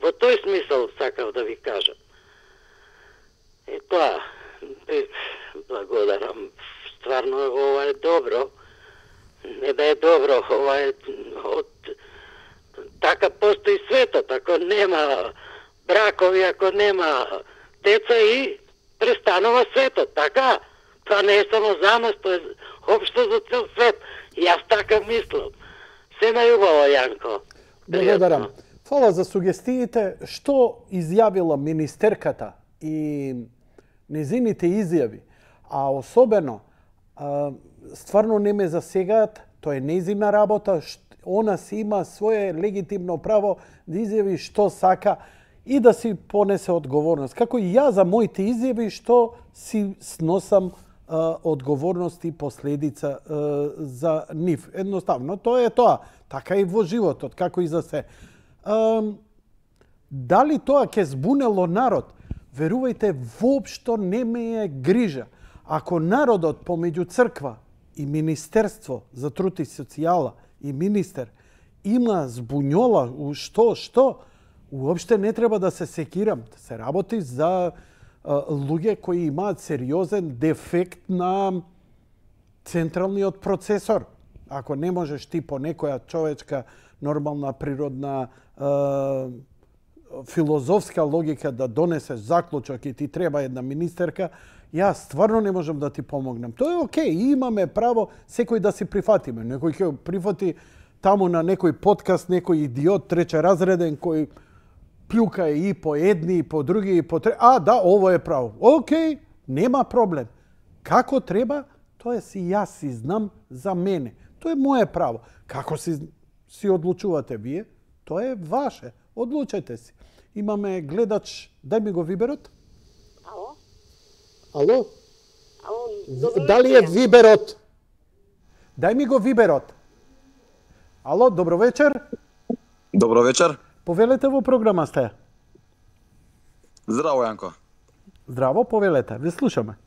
Во тој смисол сакав да ви кажам. И тоа, благодарам. Стварно, ова е добро. Не да е добро, ова е од... Така постои светот, ако нема бракови, ако нема деца и престанува светот, така? Тоа не е само за нас, тоа е општо за цел свет. Јас така мислам. Се најубаво, Јанко. Благодарам. Фала за сугестиите. Што изјавила министерката и незините изјави, а особено стварно не ме засегаат, тоа е незина работа, она си има свое легитимно право да изјави што сака и да си понесе одговорност. Како и ја за моите изјави што си сносам одговорност и последица за нив. Едноставно, тоа е тоа. Така и во животот, како и за се. Дали тоа ќе збунело народ? Верувајте, воопшто не ме е грижа. Ако народот помеѓу црква и Министерство за труд и социјала и министер има збуњола у што, уопште не треба да се секирам. Се работи за луѓе кои имаат сериозен дефект на централниот процесор. Ако не можеш ти по некоја човечка, нормална, природна, филозофска логика да донесеш заклучок и ти треба една министерка, јас стварно не можам да ти помогнам. Тоа е окей, имаме право секој да си прифатиме. Некој ќе прифати таму на некој подкаст, некој идиот тречеразреден кој плюка и по едни, и по други, и по трети. А, да, ово е право. Окей, нема проблем. Како треба, тоа си јас си знам за мене. Тоа е моје право. Како си одлучувате вие, тоа е ваше. Одлучете си. Имаме гледач, дај ми го виберот. Ало? Ало? Ало, Дали е виберот? Дај ми го виберот. Ало, добро вечер. Добро вечер. Повелете во програма сте. Здраво, Јанко. Здраво, повелете. Ве слушаме.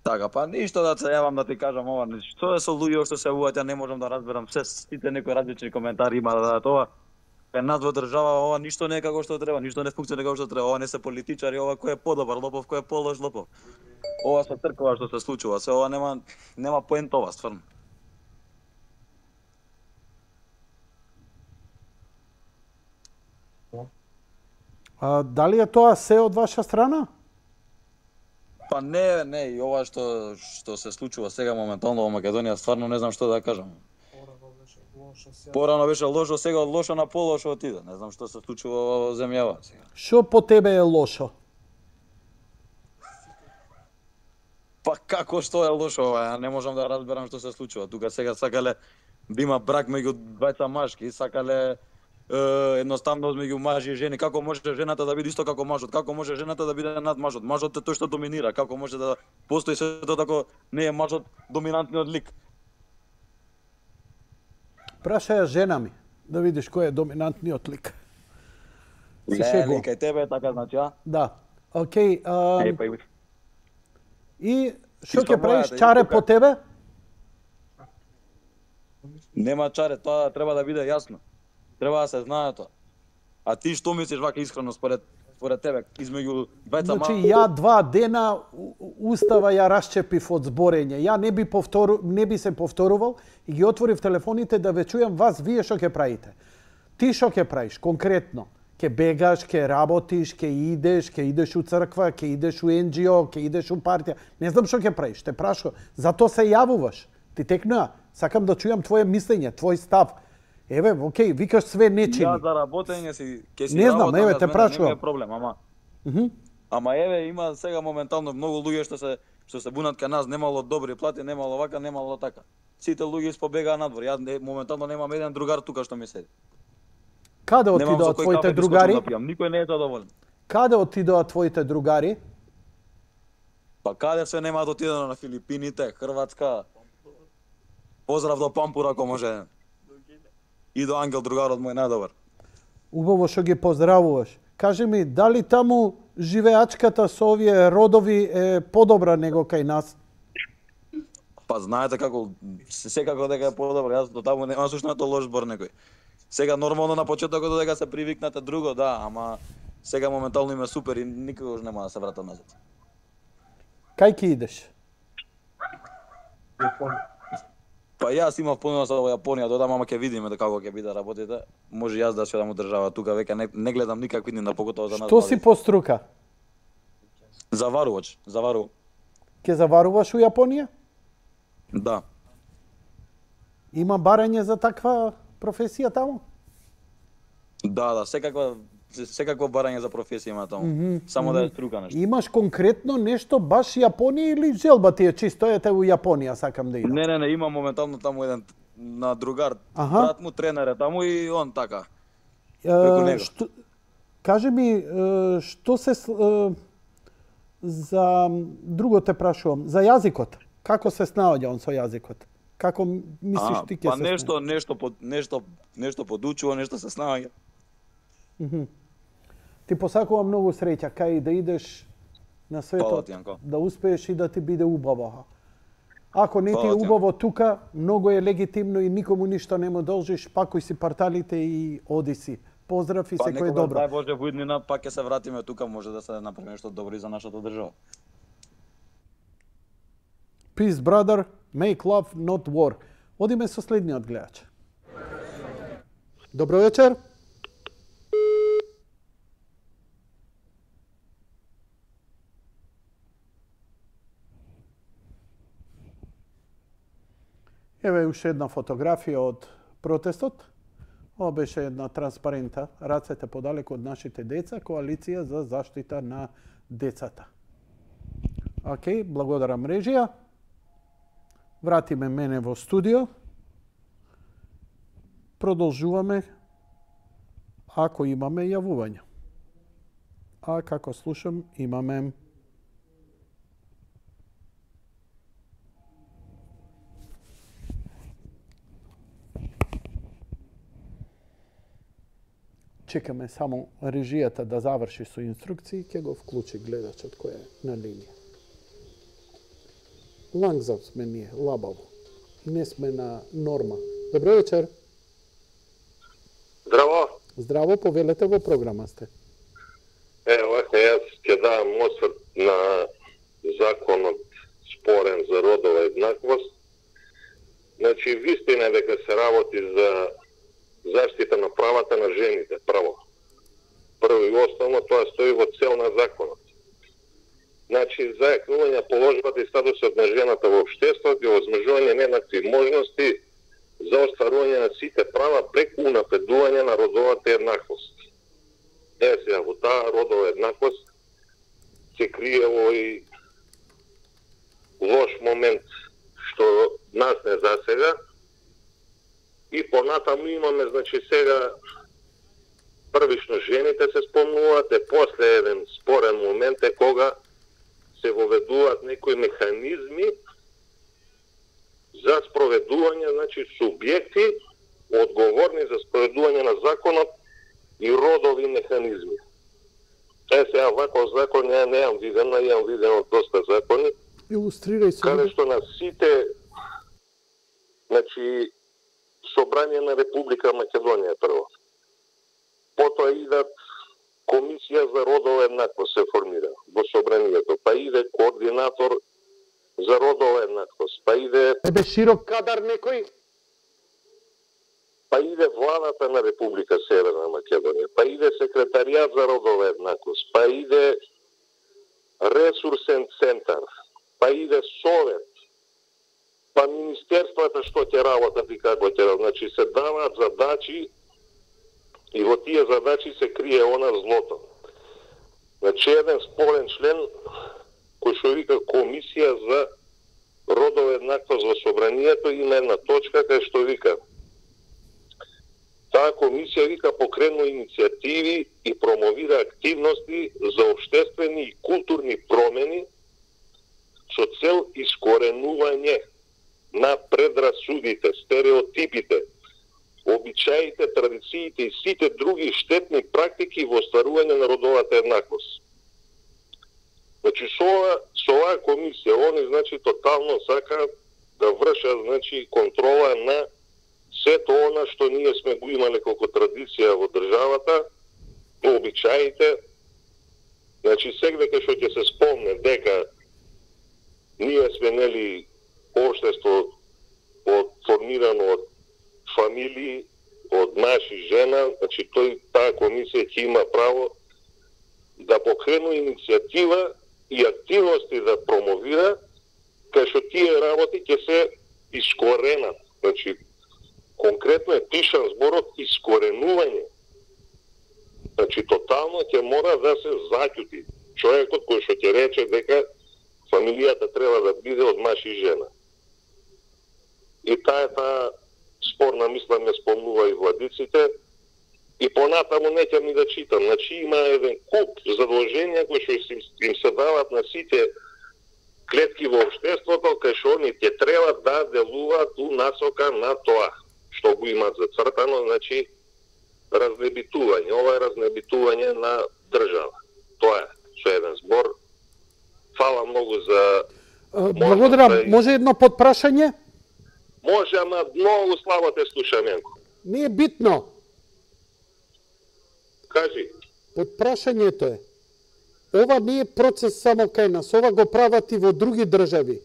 Така, па ништо да се јавам да ти кажам ова. Што е со луѓе што се јавуваат, ја не можам да разберам. Сите некои различни коментари има да тоа. Кај нас во држава ова ништо не е како што треба, ништо не функционира како што треба. Ова не се политичари, ова кој е подобар лопов, кој е полош лопов. Ова со црква што се случува, се ова нема поент ова стварно. Дали е тоа се од ваша страна? Па не, и ова што се случува сега моментално во Македонија, стварно не знам што да кажам. Порано беше лошо, сега од лошо на полошо отиде. Не знам што се случува во земјава сега. Што по тебе е лошо? Па како што е лошо ова? Ја не можам да разберам што се случува. Тука сега сакале да има брак меѓу двајца машки, сакале едноставно меѓу мажи и жени. Како може жената да биде исто како мажот? Како може жената да биде над мажот? Мажот е тој што доминира. Како може да постои сето тако не е мажот доминантниот лик? Прашаја жена ми, да видиш кој е доминантниот лик. Се шегувам. Кај тебе е така, значи, а? Да. Океј. И што ќе Исто правиш, мојата, чаре исто по тебе? Нема чаре, тоа треба да биде јасно. Треба да се знае тоа. А ти што мислиш вака искрено според тебе измеѓу двајца Значи, ја 2 дена устава ја расчепив од зборење. Ја не би се повторувал и ги отворив телефоните да ве чујам вас, вие што ќе правите. Ти што ќе правиш конкретно? Ќе бегаш, ќе работиш, ќе идеш у црква, ќе идеш у НГО, ќе идеш у партија. Не знам што ќе правиш, те прашувам. Зато се јавуваш. Ти текнуа, сакам да чујам твое мислење, твој став. Еве, окей, викаш све не чини. Ја за работење ќе си не знам, работам, еве те прашувам. Не е проблем, ама. Ама еве има сега моментално многу луѓе што се бунат кај нас, немало добри плати, немало вака, немало така. Сите луѓе испобегаа надвор. Јас моментално немам еден другар тука што ми седи. Каде отидоа твоите другари? Никој не е задоволен. Каде отидоа твоите другари? Па каде се нема да отидено на Филипините, Хрватска. Поздрав до Пампур ако може. И до Ангел, другарот мој најдобар. Убаво што ги поздравуваш. Кажи ми, дали таму живеачката со овие родови е подобра него кај нас? Па знаете како, секако дека е подобро, јас до таму нема сушнато лош збор некој. Сега нормално на почетокот додека се привикнате друго, да, ама сега моментално им е супер и никогаш нема да се вратам назад. Кај ки идеш? Па јас имав планува во Јапонија, додам, ама ќе видиме како ќе биде работите. Може јас да одам од држава тука, веќе не гледам никакви дни, покотоа за нас. Што си по струка? Заварувач, заварувам. Ке заваруваш у Јапонија? Да. Има барање за таква професија таму? Да, секакво барање за професија има таму. Само да е струка нешто. Имаш конкретно нешто баш Јапонија или желба ти е чисто ете у Јапонија сакам да идам? Не, има моментално таму еден на другар, брат му тренер е таму и он така. Кажи ми, што се за друго те прашувам, за јазикот. Како се снаоѓа он со јазикот? Како мислиш ти ќе се снаоѓа? Нешто подучува, нешто се снаоѓа. Ти посакувам многу среќа кај да идеш на светот, да успееш и да ти биде убаво. Ако не ти е убаво тука, многу е легитимно и никому ништо не му должиш, пакуј си парталите и оди си. Поздрав и секој е добро. Дај Боже во иднина, пак ќе се вратиме тука, може да се направи нешто добро и за нашата држава. Peace, brother. Make love, not war. Одиме со следниот гледач. Добро вечер. Еве уште една фотографија од протестот. Ова беше една транспарента, рацете подалеку од нашите деца, коалиција за заштита на децата. Океј, благодарам режија. Вратиме мене во студио. Продолжуваме ако имаме јавување. А како слушам, имаме чекаме само режијата да заврши со инструкции, ќе го вклучи гледачот кој е на линија. Лангзав сме ние, лабаво. И не сме на норма. Добро вечер. Здраво. Здраво, повелете во програма сте. Вака јас ќе давам осврт на законот спорен за родова еднаквост. Значи, вистина е дека се работи за заштита на правата на жените, право. Прво и основно тоа стои во цел на законот. Значи, зајакнување положбата и статусот на жената во општеството и овозможување нееднакви можности за остварување на сите права преку унапредување на родовата еднаквост. Сега, во таа родова еднаквост се крие овој лош момент што нас не засега и понатаму имаме, значи, сега првично жените се спомнуваат, после еден спорен момент е кога се воведуваат некои механизми за спроведување, значи, субјекти одговорни за спроведување на законот и родови механизми. Сега ваков закон неам виден од доста закони. Илустрирај се. Каде што на сите, значи, собрание на Република Македонија прво. Потоа идат Комисија за родова еднаквост се формира во собранието, па иде координатор за родова еднаквост, па иде... Ебе широк кадар некој? Па иде владата на Република Северна Македонија, па иде секретаријат за родова еднаквост, па иде ресурсен центар, па иде совет, па министерствата што ќе работат и како ќе работат. Значи се даваат задачи и во тие задачи се крие она злото. Значи, еден спорен член кој што вика Комисија за родова еднаквост во собранието, има една точка кај што вика: таа комисија вика покренува иницијативи и промовира активности за општествени и културни промени со цел искоренување на предрасудите, стереотипите, обичаите, традициите и сите други штетни практики во остварување на родовата еднаквост. Значи, со оваа комисија, они, значи, тотално сака да вршат, значи, контрола на сето она што ние сме го имале како традиција во државата, обичаите. Значи, сегдека што ќе се спомне дека ние сме, нели, општество формирано од фамилии, од маж и жена, значи таа комисија ќе има право да покрену иницијатива и активности да промовира, кај што тие работи ќе се искоренат. Значи, конкретно е пишан зборот искоренување. Значи, тотално ќе мора да се заќути човекот кој што ќе рече дека фамилијата треба да биде од маж и жена. И таа спорна мисла ме спомнува и владиците, и понатаму не ќе ми да читам. Значи, има еден куп задолженја кои што им се дават на сите клетки во општеството, кај што они ќе треба да делуваат у насока на тоа што го имаат зацртано, значи разнебитување. Ова е разнебитување на држава. Тоа е со еден збор. Фала многу за... Благодарам. Може едно подпрашање? Може, ама многу слабо те слушам, Јанко. Не е битно. Кажи. Подпрашањето е: ова не е процес само кај нас, ова го прават и во други држави.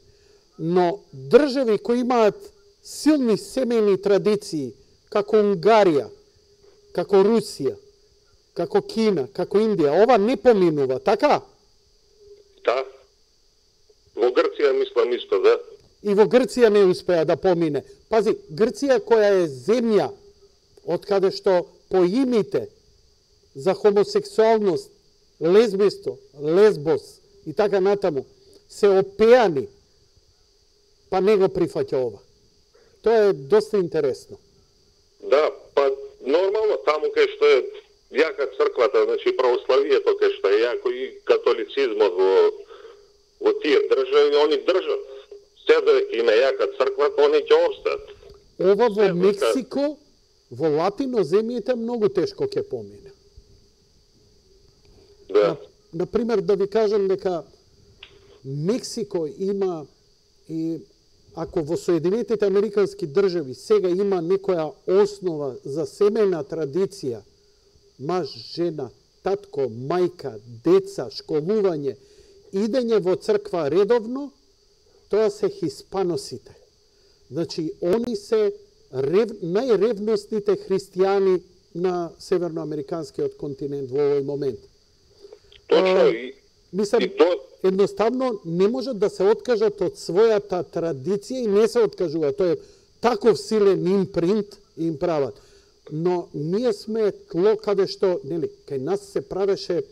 Но држави кои имаат силни семејни традиции, како Унгарија, како Русија, како Кина, како Индија, ова не поминува, така? Да. Во Грција мислам исто, да. И во Грција не успеа да помине. Пази, Грција која е земја од каде што поимите за хомосексуалност, лесбиство, лесбос и така натаму се опеани, па не го прифаќа ова. Тоа е доста интересно. Да, па нормално таму кај што е јака црквата, значи православието кај што е јако и католицизмот во тие држави, они држат. Се дека има јака црква, они ќе обстат. Ова во Мексико, во латино земјите многу тешко ќе помине. Да. Например, да ви кажам дека Мексико има и ако во Соединетите Американски држави сега има некоја основа за семејна традиција, маж, жена, татко, мајка, деца, школување, идење во црква редовно, тоа се хиспаносите. Значи, они се најревностните христијани на северноамериканскиот континент во овој момент. Точно Мислам, едноставно не можат да се откажат од својата традиција и не се откажува. Тоа е таков силен импринт им прават. Но ние сме тло каде што, нели, кај нас се правеше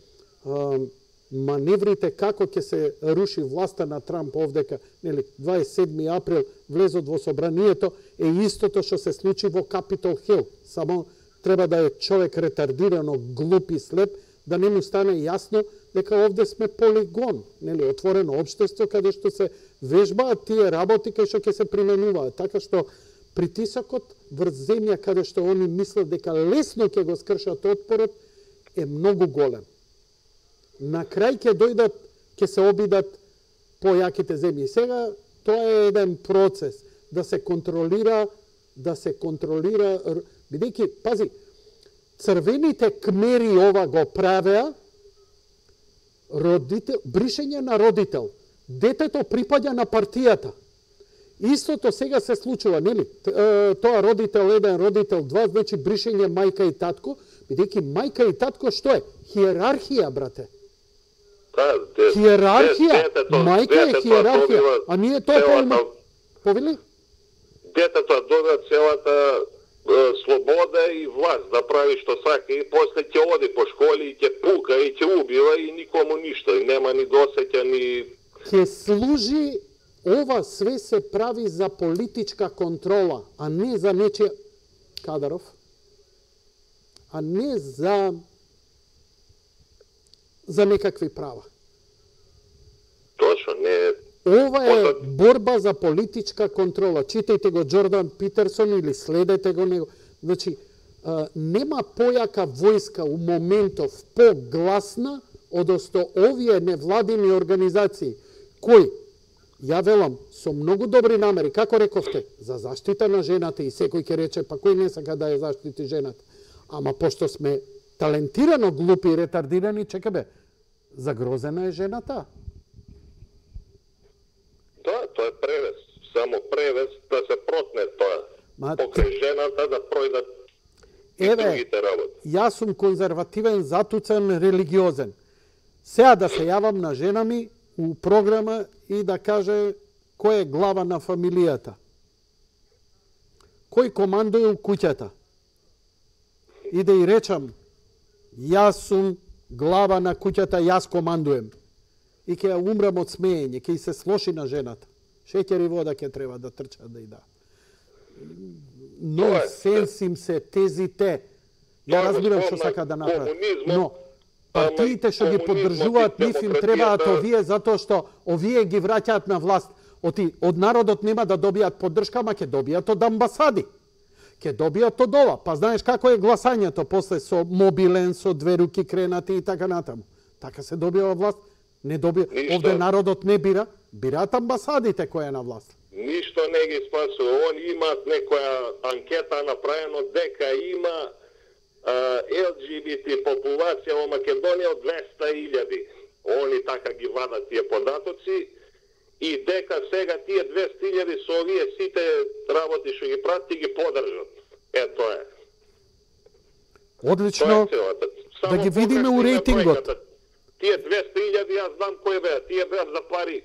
маневрите како ќе се руши власта на Трамп овдека, нели, 27 април влезот во собранието е истото што се случи во Капитол Хил. Само треба да е човек ретардирано, глуп и слеп, да не му стане јасно дека овде сме полигон, нели, отворено општество каде што се вежбаат тие работи кај што ќе се применуваат. Така што притисокот врз земја каде што они мислат дека лесно ќе го скршат отпорот е многу голем. На крај ќе дојдат, ќе се обидат појаките земји. Сега тоа е еден процес да се контролира, бидејќи, пази, црвените кмери ова го правеа, бришење на родител. Детето припаѓа на партијата. Истото сега се случува, нели? Тоа родител 1, родител 2, значи бришење мајка и татко, бидејќи мајка и татко што е? Хиерархија, брате. Хиерархија, мајка е хиерархија, а ние тоа повели? Детето добива целата слобода и власт да прави што сака и после ќе оди по школи и ќе пука и ќе убива и никому ништо, и нема ни досеќа ни... Ќе служи, ова све се прави за политичка контрола, а не за нечија... Кадаров? А не за некакви права. Точно, не... Ова е борба за политичка контрола. Читајте го Джордан Питерсон или следете го него. Значи, нема појака војска у моментов погласна одосто овие невладини организации кои, ја велам, со многу добри намери, како рековте, за заштита на жената и секој ќе рече, па кој не сака да ја заштити жената. Ама пошто сме талентирано глупи и ретардирани, чека бе, загрозена е жената. Да, тоа е превес. Само превес да се протне тоа. Покрај жената да пројдат и другите работи. Јас сум конзервативен, затуцен, религиозен. Сега да се јавам на жена ми у програма и да каже кој е глава на фамилијата. Кој командуе у куќата. И да и речам, јас сум глава на куќата, јас командуем. И ќе ја умрам од смеење, ќе се слоши на жената. Шеќер и вода ќе треба да трчат да и да. Но сенсим се тезите. Ја разбирам што сака да направат. Но партиите што ги поддржуваат нив им требаат овие затоа што овие ги враќаат на власт. Од народот нема да добијат поддршка, ама ќе добијат од амбасади. Ќе добијат од ова. Па знаеш како е гласањето после со мобилен, со две руки кренати и така натаму. Така се добива власт. Не добија, овде народот не бира, бираат амбасадите која е на власт. Ништо не ги спасува. Они имаат некоја анкета направено дека има ЛГБТ популација во Македонија од 200.000. Они така ги вадат тие податоци и дека сега тие 200.000 со овие сите работи што ги прават ги поддржат. Тоа е. Одлично. Да ги видиме у рейтингот. Тие 200.000, јас знам кој беа. Тие беа за пари.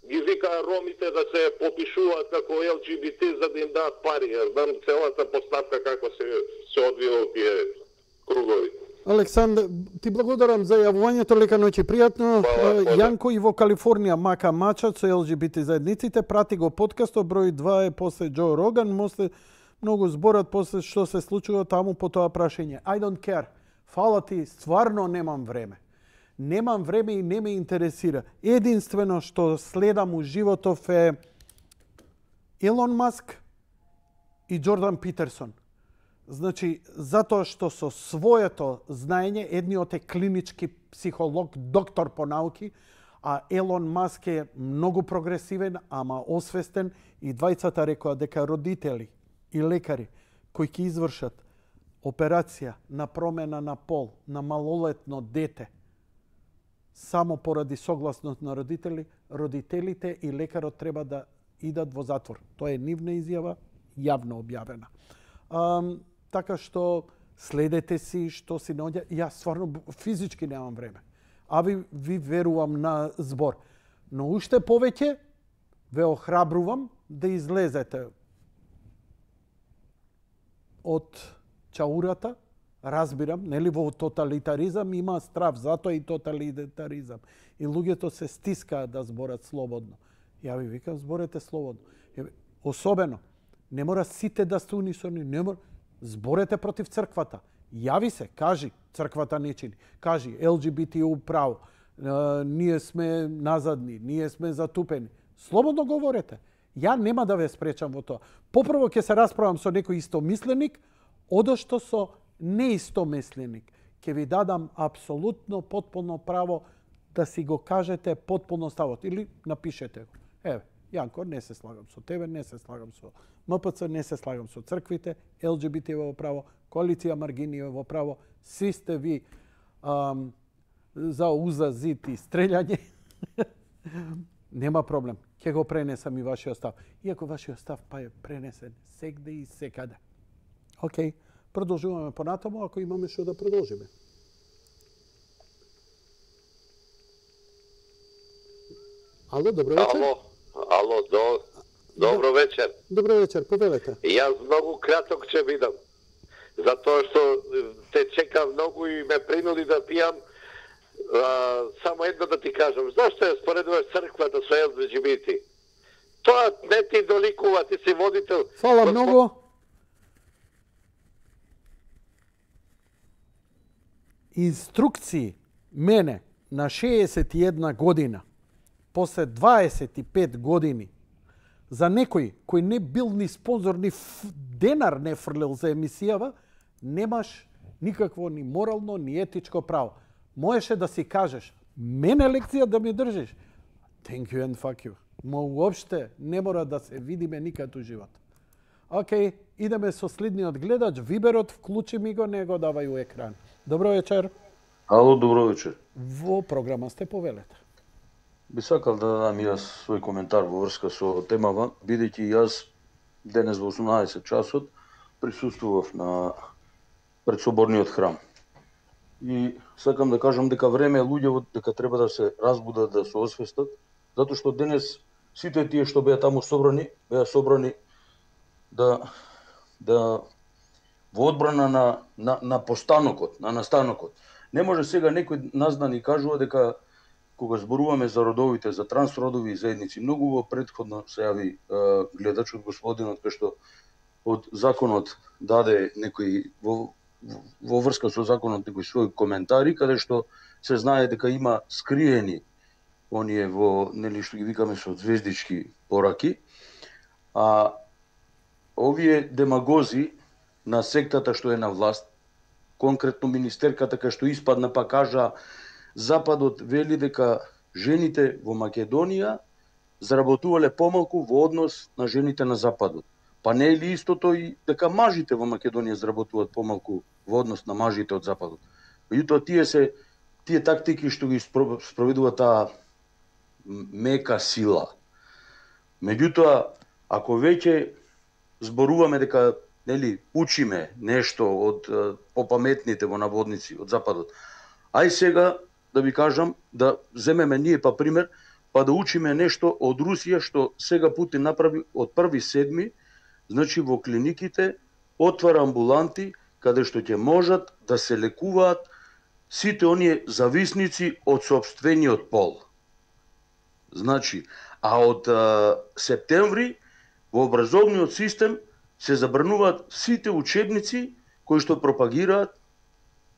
Ги викаа ромите да се попишуваат како ЛГБТ за да им дадат пари. Јас знам целата поставка како се одвива у тие кругови. Александр, ти благодарам за јавувањето, лека ноќ и пријатно. Јанко и во Калифорнија мака мачат со ЛГБТ заедниците, прати го подкастот, број 2 е после Џо Роган, многу зборат после што се случува таму по тоа прашање. I don't care. Фала ти, стварно немам време. Немам време и не ме интересира. Единствено што следам у животов е Илон Маск и Джордан Питерсон. Значи, затоа што со своето знаење, едниот е клинички психолог, доктор по науки, а Елон Маск е многу прогресивен, ама освестен, и двајцата рекоа дека родители и лекари кои ќе извршат операција на промена на пол на малолетно дете само поради согласност на родителите и лекарот треба да идат во затвор. Тоа е нивна изјава, јавно објавена. Така што следете си што си наоѓа. Јас стварно физички немам време. А ви верувам на збор. Но уште повеќе ве охрабрувам да излезете од чаурата. Разбирам, нели во тоталитаризам има страв, затоа и тоталитаризам. И луѓето се стискаат да зборат слободно. Ја ви викам, зборете слободно. Особено, не мора сите да сте унисони, не мора. Зборете против црквата. Јави се, кажи, црквата не чини. Кажи, ЛГБТ право, ние сме назадни, ние сме затупени. Слободно говорете. Ја нема да ве спречам во тоа. Попрво ќе се расправам со некој истомисленик, одошто со неистомисленик. Ќе ви дадам апсолутно, потполно право да си го кажете потполно ставот. Или напишете го. Еве, Јанко, не се слагам со тебе, не се слагам со МПЦ, не се слагам со црквите, ЛГБТ во право, коалиција Маргини во право, сви сте ви за уза, зид и стрелјање. Нема проблем. Ќе го пренесам и вашиот став. Иако вашиот став па е пренесен сегде и секаде. Океј, продолжуваме понатаму, ако имаме што да продолжиме. Ало, добро вечер. Ало, добро вечер. Добро вечер, повелете. Јас многу краток ќе бидам. затоа што те чека многу и ме принуди да пијам. Само едно да ти кажам, зашто ја споредуваш црквата со ЛГБТ? Тоа не ти доликува, ти си водител. Фала многу. Инструкции мене на 61 година, после 25 години, за некој кој не бил ни спонзор, ни денар не фрлил за емисијава, немаш никакво ни морално, ни етичко право. Можеше да си кажеш, мене лекција да ми држиш. Thank you and fuck you. Мо уопште не мора да се видиме никад у живот. Океј, идеме со следниот гледач. Виберот, вклучи ми го, не го давај у екран. Добро вечер. Ало, добро вечер. Во програма сте, повелете. Би сакал да дадам јас свој коментар во врска со темава, бидејќи јас денес во 18 часот присуствував на предсоборниот храм. И сакам да кажам дека време е луѓето дека треба да се разбудат, да се освестат, затоа што денес сите тие што беа таму собрани да во одбрана на постанокот, на настанокот. Не може сега некој нас да ни кажува дека кога зборуваме за родовите, за трансродови заедници, многу во претходно се јави гледачот господинот кај што од законот даде некои во врска со законот некои своји коментари каде што се знае дека има скриени оние во нели што ги викаме со звездички пораки, а овие демагози на сектата што е на власт, конкретно министерката кај што испадна па кажа Западот вели дека жените во Македонија заработувале помалку во однос на жените на Западот. Па не е ли истото и дека мажите во Македонија заработуваат помалку во однос на мажите од Западот? Меѓутоа тие тактики што ги спроведува таа мека сила. Меѓутоа, ако веќе зборуваме дека нели учиме нешто од попаметните во наводници од Западот, ај сега да ви кажам да земеме ние па пример, па да учиме нешто од Русија што сега Путин направи од 1.7. Значи во клиниките отвара амбуланти каде што ќе можат да се лекуваат сите оние зависници од сопствениот пол. Значи, а од септември во образовниот систем се забрануваат сите учебници кои што пропагираат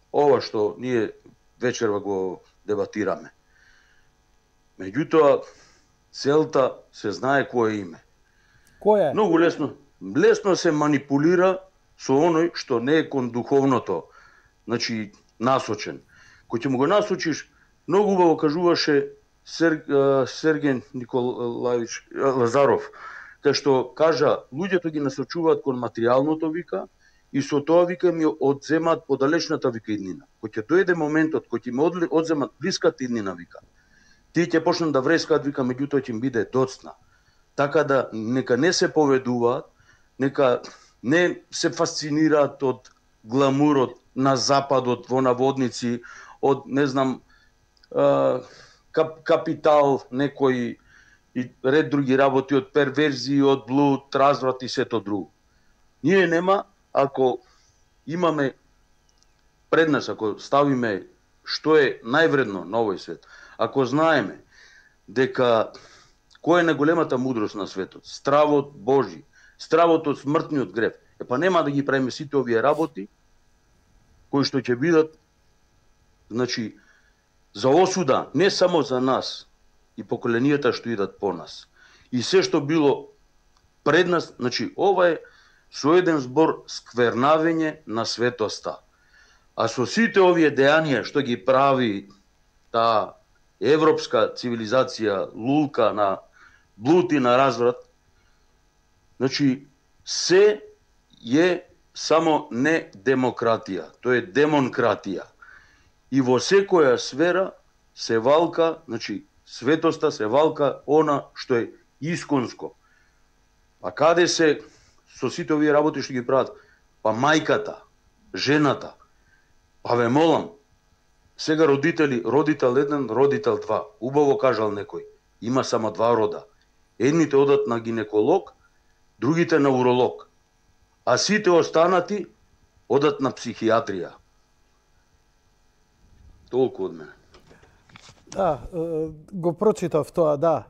ова што ние вечерва го дебатираме. Меѓутоа, целта се знае кое име. Кој е? Многу лесно се манипулира со оној што не е кон духовното, значи насочен. Кој ќе му го насочиш, многу убаво кажуваше Сергеј Николаевич Лазаров, кај што кажа, луѓето ги насочуваат кон материјалното, вика, и со тоа, вика, ми одземаат подалечната, вика, иднина. Кој ќе дојде моментот, кој ќе ми одземат блиската иднина, вика, тие ќе почнат да врескаат, вика, меѓутоа ќе им биде доцна. Така да, нека не се поведуваат, нека не се фасцинираат од гламурот на Западот, во наводници, од, не знам, капитал, некои и ред други работи, од перверзии, од блуд, разврат и сето друго. Ние нема, ако имаме пред нас, ако ставиме што е највредно на овој свет, ако знаеме дека која е најголемата мудрост на светот, стравот Божи, стравот од смртниот грев, па нема да ги правиме сите овие работи кои што ќе бидат, значи, за осуда не само за нас и поколенијата што идат по нас. И се што било пред нас, значи, ова е со еден збор сквернавење на светоста. А со сите овие дејанија што ги прави таа европска цивилизација, лулка на блуд и на разврат, значи, се е само не демократија, тоа е демонкратија. И во секоја сфера се валка, значи, светоста се валка она што е исконско. А каде се со сите овие работи што ги прават? Па мајката, жената. Па ве молам, сега родители, родител 1, родител 2. Убаво кажал некој, има само 2 рода. Едните одат на гинеколог, другите на уролог. А сите останати одат на психијатрија. Толку од мене. Да, го прочитав тоа, да.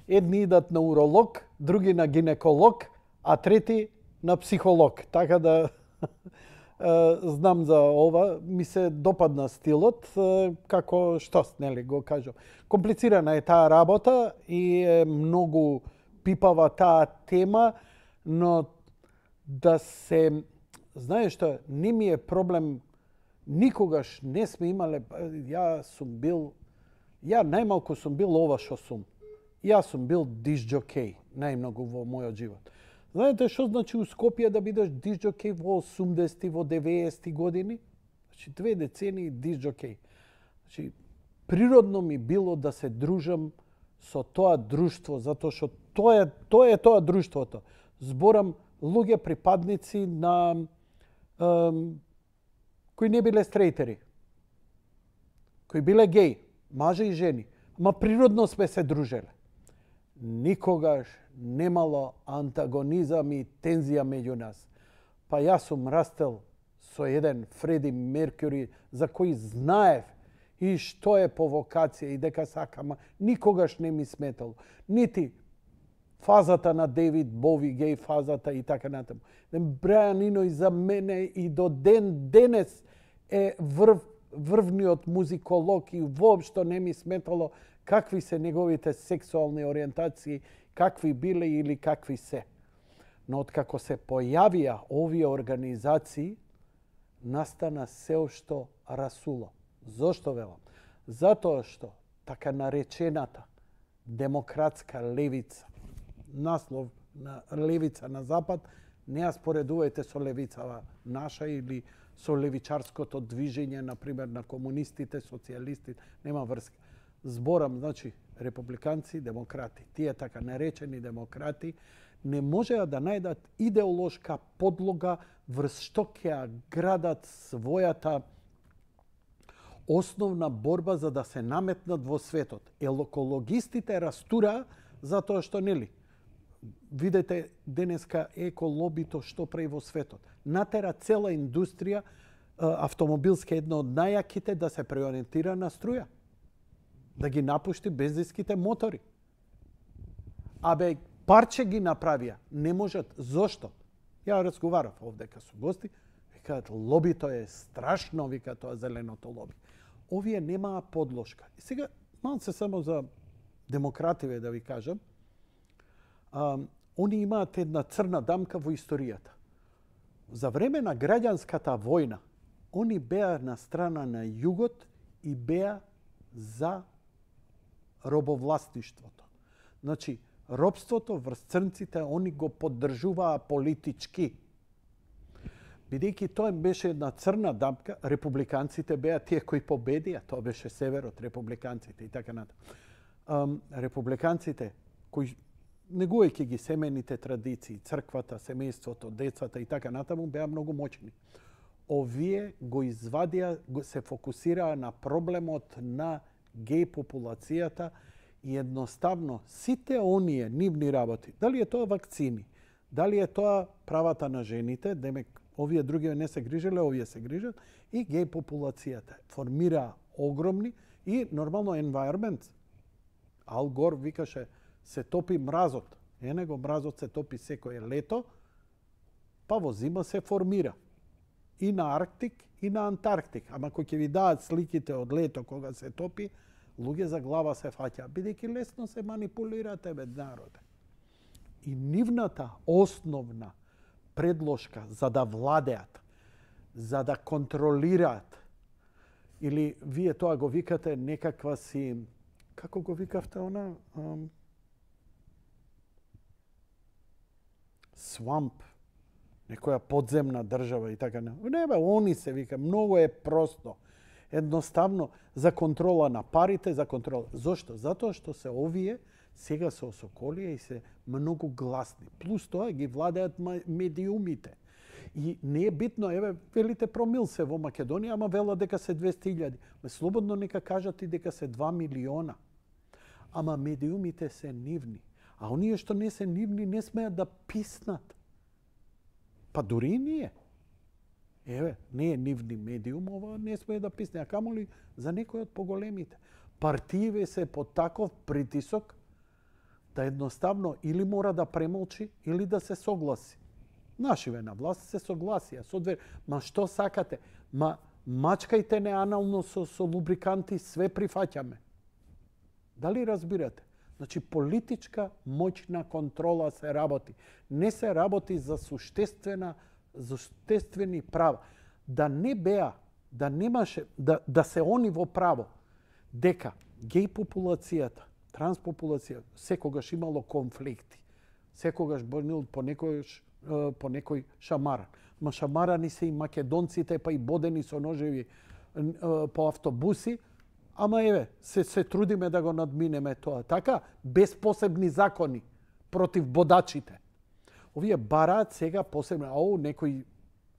Едни идат на уролог, други на гинеколог, а трети на психолог. Така да знам за ова, ми се допадна стилот, како што, нели, го кажам. Комплицирана е таа работа и е многу пипава таа тема, но да се, знаеш што, не ми е проблем, никогаш не сме имале, ја најмалку сум бил ова што сум. Јас сум бил дисџокеј, најмногу во мојот живот. Знаете што значи у Скопје да бидеш дисџокеј во 80-ти, во 90-ти години? Значи 2 децении дисџокеј. Значи, природно ми било да се дружам со тоа друштво, затоа што тоа е тоа друштвото. Зборам луѓе припадници на кои не биле стрейтери, кои биле геј, мажи и жени, ма природно сме се дружеле. Никогаш немало антагонизам и тензија меѓу нас. Па јас сум растел со еден Фреди Меркюри за кој знаев и што е по вокација и дека сакам, никогаш не ми сметало. Нити фазата на Дейвид Бови, геј фазата и така натаму. Брајан Ино за мене и до ден денес е врвниот музиколог и воопшто не ми сметало какви се неговите сексуални ориентации, какви биле или какви се. Но откако се појавија овие организации, настана сеошто расуло. Зошто велам? Затоа што така наречената демократска левица, наслов на левица на запад, не ја споредувајте со левицава наша или со левичарското движење, например, на комунистите, социјалистите, нема врска. Зборам, значи, републиканци, демократи. Тие така наречени демократи не можеа да најдат идеолошка подлога врз што ќе градат својата основна борба за да се наметнат во светот. Екологистите растураа затоа што, нели, видете денеска еколобито што прави во светот. Натера цела индустрија, автомобилска една од најаките, да се преориентира на струја. Да ги напушти бензинските мотори. Абе, парче ги направија. Не можат. Зошто? Ја разговарав овдека со гости. Викаат, лобито е страшно, вика тоа зеленото лоби. Овие немаа подложка. И сега, малце само за демокративе да ви кажам. Они имаат една црна дамка во историјата. За време на граѓанската војна, они беа на страна на југот и беа за робовластништвото. Значи, робството врз црнците, они го поддржуваа политички. Бидејќи тоа беше една црна дамка, републиканците беа тие кои победија, тоа беше северот, републиканците и така натаму. Републиканците кои негувајќи ги семејните традиции, црквата, семејството, децата и така натаму, беа многу моćни. Овие го извадија, се фокусираа на проблемот на геј популацијата и едноставно сите оние нивни работи, дали е тоа вакцини, дали е тоа правата на жените, демек овие други не се грижеле, овие се грижат, и геј популацијата формираа огромни и нормално environment. Ал Гор викаше, се топи мразот. Него мразот се топи секое лето, па во зима се формира. И на Арктик, и на Антарктик. Ама кој ќе ви даат сликите од лето кога се топи, луѓе за глава се фаќа, бидејќи лесно се манипулира тебе народе. И нивната основна предложка за да владеат, за да контролираат, или вие тоа го викате некаква си, како го викавте она? Свамп, некоја подземна држава и така. Не бе, они се вика, многу е просто. Едноставно за контрола на парите, за контрола. Зошто? Затоа што се овие сега се осоколија и се многу гласни. Плюс тоа ги владеат медиумите. И не е битно, еве, велите промил се во Македонија, ама вела дека се 200.000. Слободно нека кажат и дека се 2 милиона. Ама медиумите се нивни. А оние што не се нивни не смеат да писнат. Па дури и ние. Еве, не е нивни медиум, ова не смее да писне, а камоли за некој од поголемите. Партиите се под таков притисок да едноставно или мора да премолчи, или да се согласи. Нашиве на власт се согласија. Ма што сакате? Мачкајте не анално со лубриканти, све прифаќаме. Дали разбирате? Значи, политичка моќна контрола се работи. Не се работи за суштествени права. Да не беа, да немаше, да се они во право, дека геј популацијата, транспопулација, секогаш имало конфликти. Секогаш бил по некој шамаран. Ма шамарани се и македонците, па и бодени со ножеви по автобуси. Ама еве, се трудиме да го надминеме тоа. Така, без посебни закони против бодачите. Овие бараат сега посебно, некој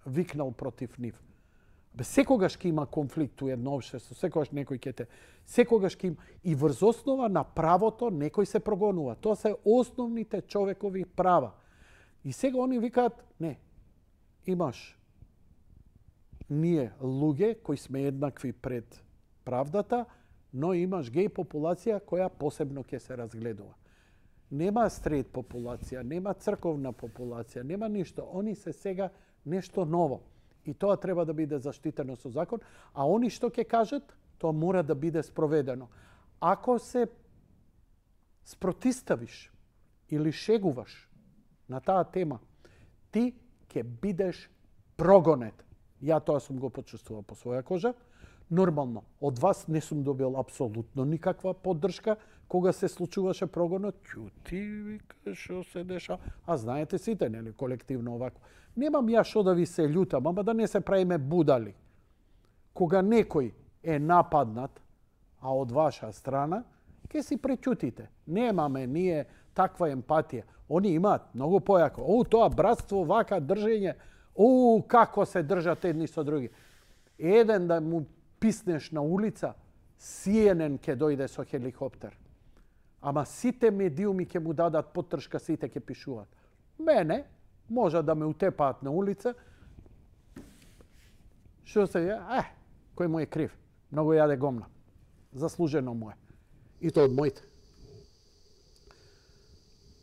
викнал против нив. Секогаш ќе има конфликт у едно општество, секогаш некој ќе те... Секогаш ќе има... И врз основа на правото некој се прогонува. Тоа се основните човекови права. И сега они викаат, не, имаш ние луѓе кои сме еднакви пред правдата, но имаш геј популација која посебно ќе се разгледува. Нема стрейт популација, нема црковна популација, нема ништо. Они се сега нешто ново. И тоа треба да биде заштитено со закон, а они што ќе кажат, тоа мора да биде спроведено. Ако се спротиставиш или шегуваш на таа тема, ти ќе бидеш прогонет. Ја тоа сум го почувствувал по своја кожа. Нормално, од вас не сум добил апсолутно никаква поддршка кога се случуваше прогонот. Ќути, вика, што се деша? А знаете сите, нели, колективно овако. Немам ја што да ви се љутам, ама да не се правиме будали. Кога некој е нападнат, а од ваша страна, ке си преќутите. Немаме ние таква емпатија. Они имаат многу појако. Тоа братство, вака држење, како се држат едни со други. Еден да му писнеш на улица, CNN ќе дојде со хеликоптер. Ама сите медиуми ќе му дадат поддршка, сите ќе пишуваат. Мене може да ме утепаат на улица. Што се ја? Кој му е крив? Многу јаде гомна. Заслужено му е. И тоа од моите.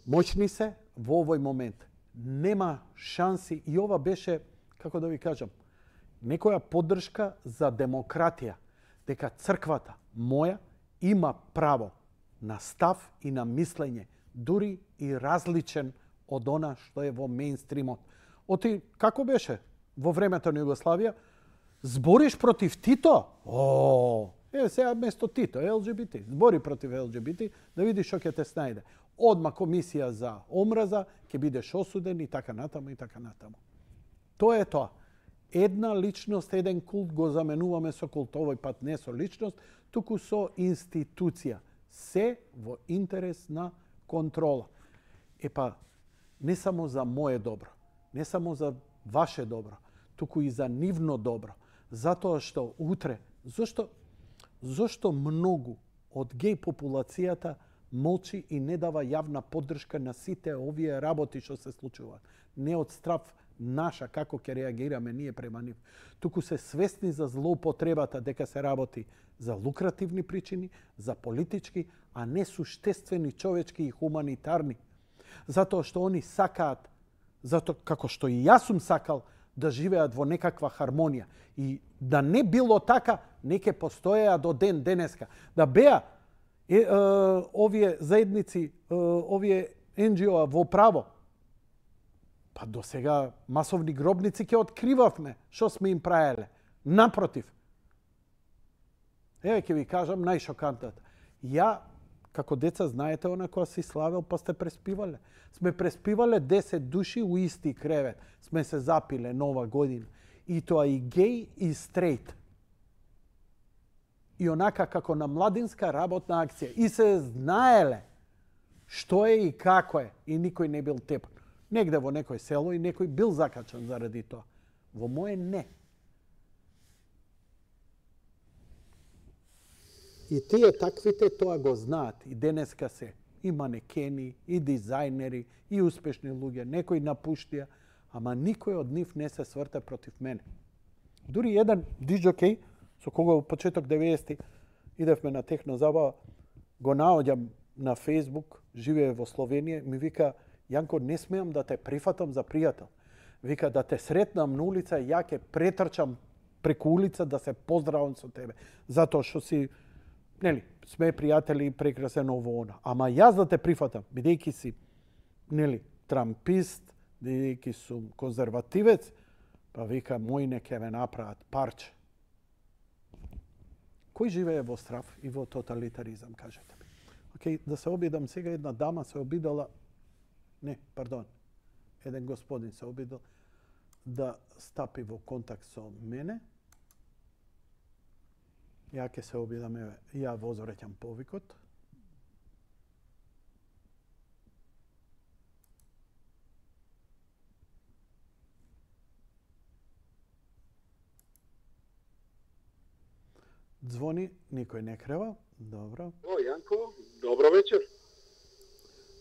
Моćни се во овој момент. Нема шанси и ова беше, како да ви кажам, некоја поддршка за демократија, дека црквата моја има право на став и на мислење, дури и различен од она што е во мејнстримот. Оти, како беше во времето на Југославија, збориш против Тито? Сега место Тито, ЛГБТ, збори против ЛГБТ, да видиш што ќе те снајде. Одма комисија за омраза, ќе бидеш осуден и така натаму и така натаму. Тоа е тоа. Една личност, еден култ го заменуваме со култ. Овој пат не со личност, туку со институција. Се во интерес на контрола. Не само за моje добро, не само за ваше добро, туку и за нивно добро. Затоа што утре, зошто многу од геј популацијата молчи и не дава јавна поддршка на сите овие работи што се случуваат. Не од страв наша како ќе реагираме ние према нив, туку се свесни за злоупотребата дека се работи за лукративни причини, за политички, а не суштествени човечки и хуманитарни. Затоа што они сакаат, како што и јас сум сакал, да живеат во некаква хармонија. И да не било така, не ќе постоеа до ден денеска. Да беа овие заедници, овие NGO-а во право, па до сега масовни гробници ќе откривавме што сме им правеле. Напротив. Еве ќе ви кажам најшокантната. Ја, како деца, знаете она која си славел, па сте преспивале. Сме преспивале 10 души у исти кревет. Сме се запиле нова година. И тоа и геј и стрейт. И онака како на младинска работна акција. И се знаеле што е и како е. И никој не бил тепан. Негде во некој село и некој бил закачан заради тоа. Во моје не. И тие таквите тоа го знаат. И денеска се и манекени, и дизајнери, и успешни луѓе. Некои напуштија, ама никој од нив не се сврте против мене. Дури еден диџокеј со кого во почеток 90-ти идевме на техно забава, го наоѓам на Facebook, живее во Словенија, ми вика: Јанко, не смеам да те прифатам за пријател. Вика, да те сретнам на улица, ја ќе претрчам преку улица да се поздравам со тебе, затоа што си, нели, сме пријатели, прекрасен ово она. Ама јас да те прифатам, бидејќи си, нели, трампист, бидејќи сум конзервативец, па вика, мој не ќе ме направат парче. Кој живее во страв и во тоталитаризам, кажете ми? Океј, да се обидам сега, една дама се обидала, не, пардон, еден господин се обидал да стапи во контакт со мене. Ја ќе се обидам, ја возвраќам повикот. Звони, никој не крева. Добро. О, Јанко, добро вечер.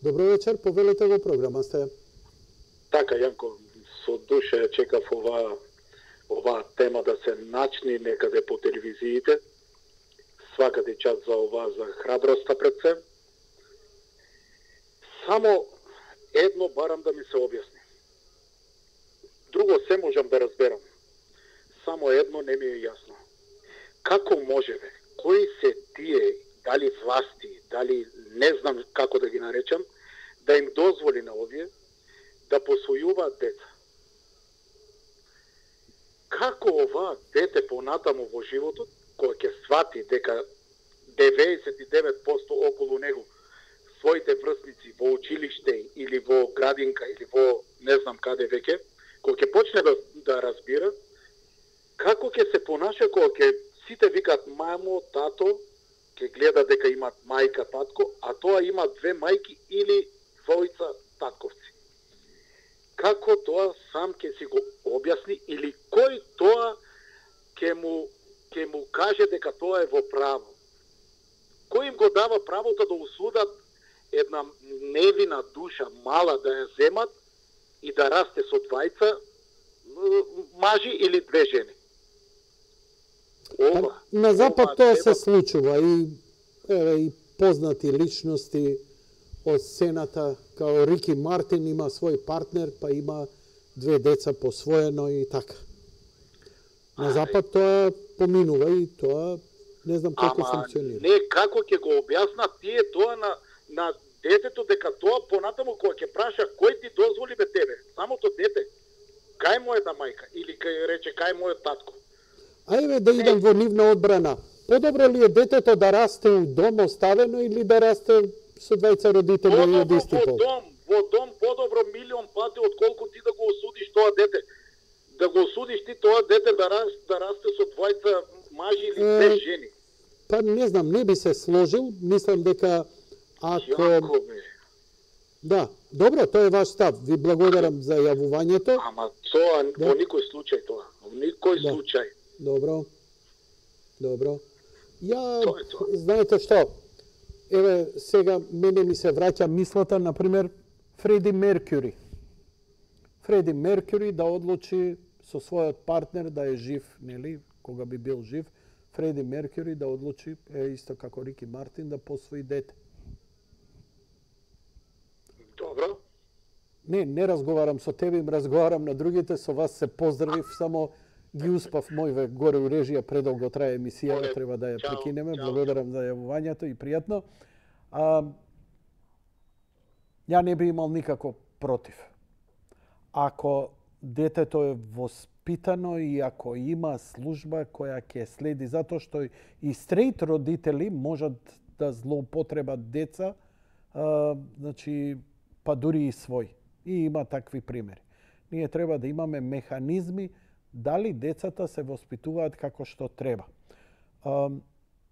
Добро вечер, повелете во програма сте. Така, Јанко, со душа ја чекав оваа тема да се начни некаде по телевизиите. Свакате час за ова, за храброста пред се. Само едно барам да ми се објасни. Друго се можам да разберам. Само едно не ми е јасно. Како можеме, кои се тие, дали власти, дали не знам како да ги наречам, да им дозволи на овие да посвојуваат деца? Како ова дете понатаму во животот, кога ќе свати дека 99% околу него своите врсници во училиште или во градинка или во не знам каде веќе, кога ќе почне да разбира, како ќе се понаша кога ќе сите викат мамо, тато, ќе гледа дека имат мајка, татко, а тоа има две мајки или двојца татковци. Како тоа сам ќе си го објасни или кој тоа ќе му каже дека тоа е во право? Кој им го дава правото да осудат една невина душа мала да ја земат и да расте со двајца мажи или две жени? На Запад тоа се случува и познати личности од сцената, као Рики Мартин има свој партнер, па има две деца посвоено и така. На Запад тоа поминува и тоа не знам како функционира. Не, како ќе го објаснат тие тоа на детето, дека тоа понатаму кога ќе праша кој ти дозволи бе тебе, самото дете, кај мојата мајка или кај рече кај мојот татко. Ајде да идам во нивна одбрана. Подобро ли е детето да расте у дом оставено или да расте со двајца родители од исти пол? Во дом подобро милион пати отколку ти да го осудиш тоа дете. Да го осудиш ти тоа дете да расте со двајца мажи или две жени. Па не знам, не би се сложил. Мислам дека ако... Да, добро, тоа е ваш став. Ви благодарам за јавувањето. Ама тоа во никој случај тоа. Во никој случај. Добро. Знаете што? Еве, сега мене ми се враќа мислата, например, Фреди Меркјури. Фреди Меркјури да одлучи со својот партнер да е жив, нели, кога би бил жив, Фреди Меркјури да одлучи, исто како Рики Мартин, да посвои дете. Добро. Не разговарам со тебе, им разговарам на другите, со вас се поздравив, само ги успав мојве горе у режија, предолго трае емисијата, треба да ја прекинеме. Благодарам за јавувањето и пријатно. Ја не би имал никако против. Ако детето е воспитано и ако има служба која ќе следи, затоа што и стрейт родители можат да злоупотребат деца, значи, па дури и свој. И има такви примери. Ние треба да имаме механизми дали децата се воспитуваат како што треба.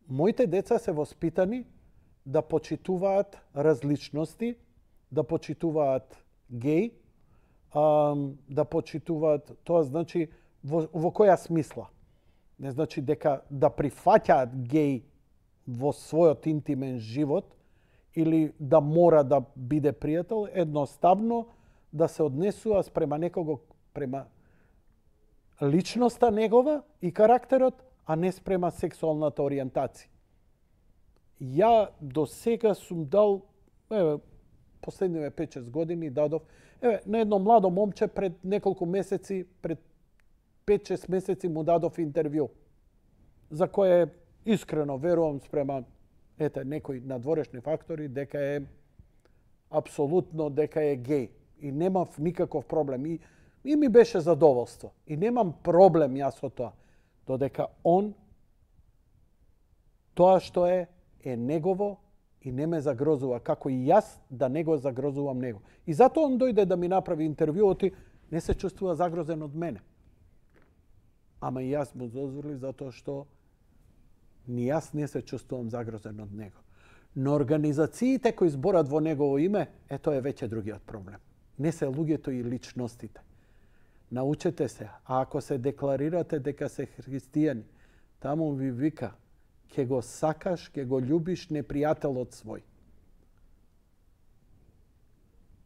Моите деца се воспитани да почитуваат различности, да почитуваат геј, да почитуваат, тоа значи во која смисла? Не значи дека да прифаќаат геј во својот интимен живот или да мора да биде пријател, едноставно да се однесува спрема некого, према личноста негова и карактерот, а не спрема сексуалната ориентација. Ја до сега сум дал, последниве 5-6 години дадов, на едно младо момче пред неколку месеци, пред 5-6 месеци му дадов интервју, за кое искрено верувам спрема некои надворешни фактори дека е апсолутно дека е геј и немав никаков проблем и ми беше задоволство и немам проблем јас со тоа, додека он тоа што е негово и не ме загрозува, како и јас да не го загрозувам него. И затоа он дојде да ми направи интервјуот и не се чувствува загрозен од мене. Ама и јас му дозволив затоа што ни јас не се чувствувам загрозен од него. Но организациите кои зборат во негово име, тоа е веќе другиот проблем. Не се луѓето и личностите. Научете се, а ако се декларирате дека се христијани, таму ви вика, ќе го сакаш, ќе го љубиш непријателот свој.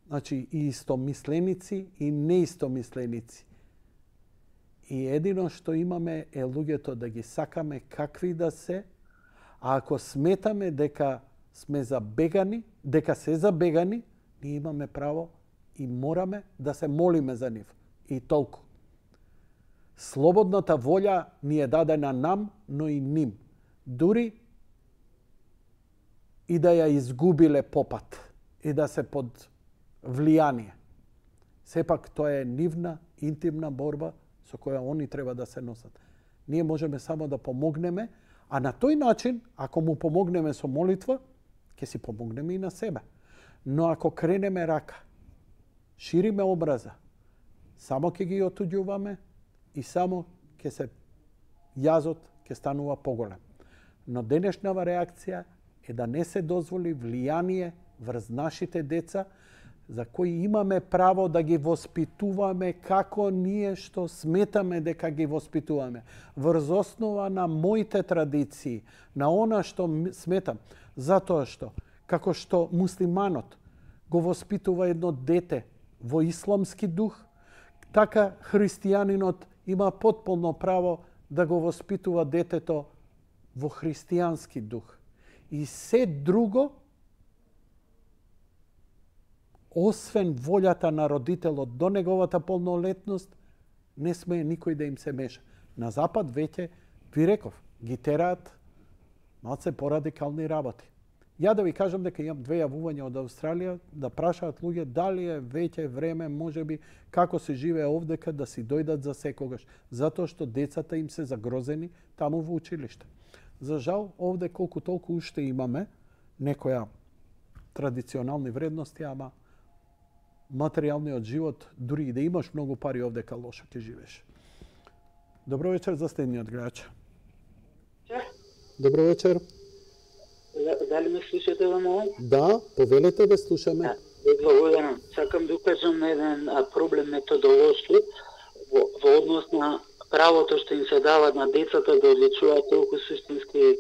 Значи, и истомисленици, и неистомисленици. И едино што имаме е луѓето да ги сакаме какви да се, а ако сметаме дека сме забегани, дека се забегани, ние имаме право и мораме да се молиме за нив. И толку. Слободната волја ни е дадена нам, но и ним. Дури и да ја изгубиле попат и да се под влијание. Сепак тоа е нивна интимна борба со која они треба да се носат. Ние можеме само да помогнеме, а на тој начин, ако му помогнеме со молитва, ќе си помогнеме и на себе. Но ако кренеме рака, шириме образа, само ќе ги отуѓуваме и само ќе се јазот ќе станува поголем. Но денешнава реакција е да не се дозволи влијание врз нашите деца, за кои имаме право да ги воспитуваме како ние што сметаме дека ги воспитуваме. Врз основа на моите традиции, на она што сметам. Затоа што, како што муслиманот го воспитува едно дете во исламски дух, така христијанинот има потполно право да го воспитува детето во христијански дух. И се друго, освен волјата на родителот до неговата полнолетност, не смее никој да им се меша. На Запад веќе, ви реков, ги тераат малце порадикални работи. Ја да ви кажам дека имам 2 јавувања од Австралија да прашаат луѓе дали е веќе време, можеби, како се живее овдека, да си дојдат за секогаш, затоа што децата им се загрозени таму во училиште. За жал, овде колку толку уште имаме некоја традиционални вредности, ама материјалниот живот, дури и да имаш многу пари овдека, лошо ќе живееш. Добро вечер за следниот гледач. Добро вечер. Дали ме слушате во момент? Да, повелете да слушаме. Благодарам. Сакам да укажам на еден проблем методолошки во однос на правото што им се дава на децата да одличуваат толку суштински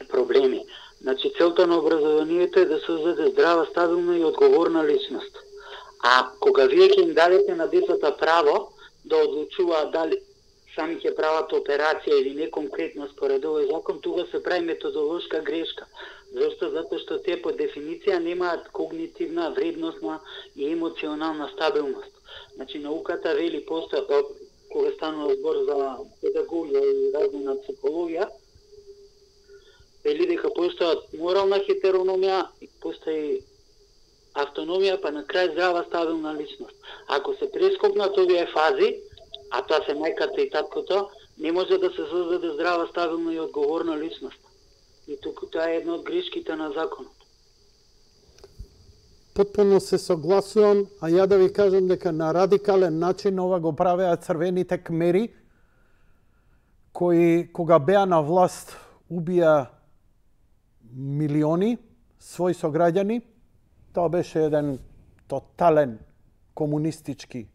проблеми. Значи, целта на образованието е да создаде здрава, стабилна и одговорна личност. А кога вие ќе им дадете на децата право да одлучуваат дали сами ќе прават операција или не конкретно според овој закон, тука се прави методолошка грешка. Зошто? Затоа што те по дефиниција немаат когнитивна, вредностна и емоционална стабилност. Значи, науката вели кога станува збор за педагогија и разумна психологија, вели дека постојат морална хетерономија, постои автономија, па на крај здрава стабилна личност. Ако се прескокнат овие фази, а тоа се мајката и таткото, не може да се создаде здрава, стабилна и одговорна личност. И тука тоа е една од грешките на законот. Потполно се согласувам, а ја да ви кажам дека на радикален начин ова го правеа црвените кмери, кои кога беа на власт убија милиони своји сограѓани. Тоа беше еден тотален комунистички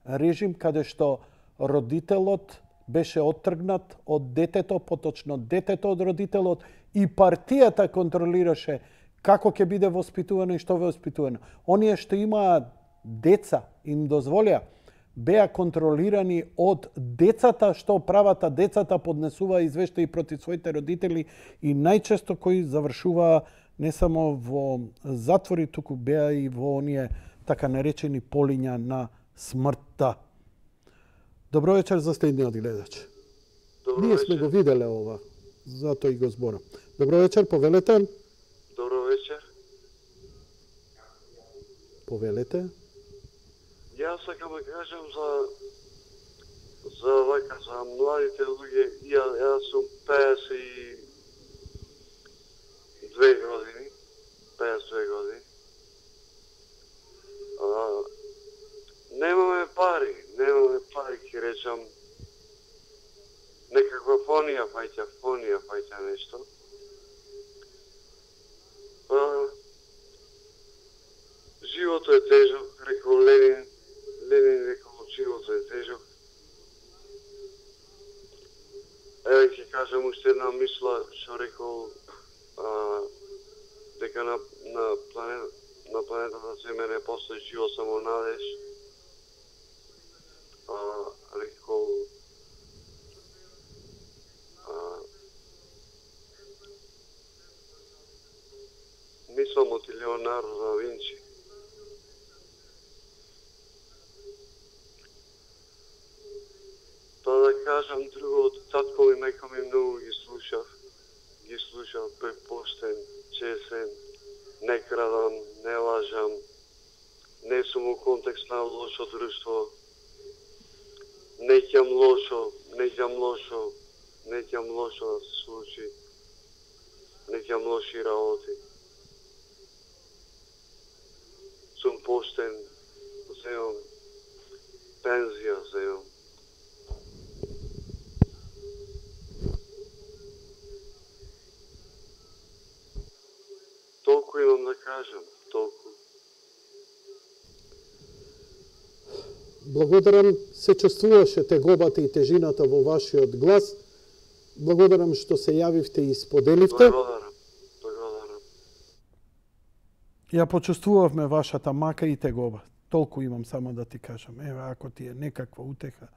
режим, каде што родителот беше оттргнат од детето, поточно детето од родителот и партијата контролираше како ќе биде воспитувано и што воспитувано. Оние што имаат деца им дозволија беа контролирани од децата, што правата децата поднесуваа извештаи против своите родители и најчесто кои завршуваа не само во затвори, туку беа и во оние така наречени полиња на смртта. Добро вечер за следниот гледач. Ние сме го виделе ова, затоа и го зборам. Добро вечер, повелете. Добро вечер. Повелете. Јас сакам да кажам за младите луѓе. Јас сум 52 години. 52 години. Немаме пари, ќе речам. Некаква фонија фаќа нешто. Живото е тежок, рекол Ленин рекол, живото е тежок. Еве ќе кажам уште една мисла, што рекол дека на планетата Земја не постои живот, само надеж. Рекол мислам од Леонардо да Винчи. Тоа да кажам друго, од татко ми, мајка ми многу ги слушав, бев поштен, чесен, не крадам, не лажам, не сум во контекст на лошо друштво, не ќам лошо да се случи, не ќам лоши работи. Сум поштен, земам пензија, земам. Толку имам да кажам, толку. Благодарам, се чувствуваше тегобата и тежината во вашиот глас. Благодарам што се јавивте и споделивте. Благодарам. Ја почувствувавме вашата мака и тегоба. Толку имам само да ти кажам. Еве, ако ти е некаква утеха.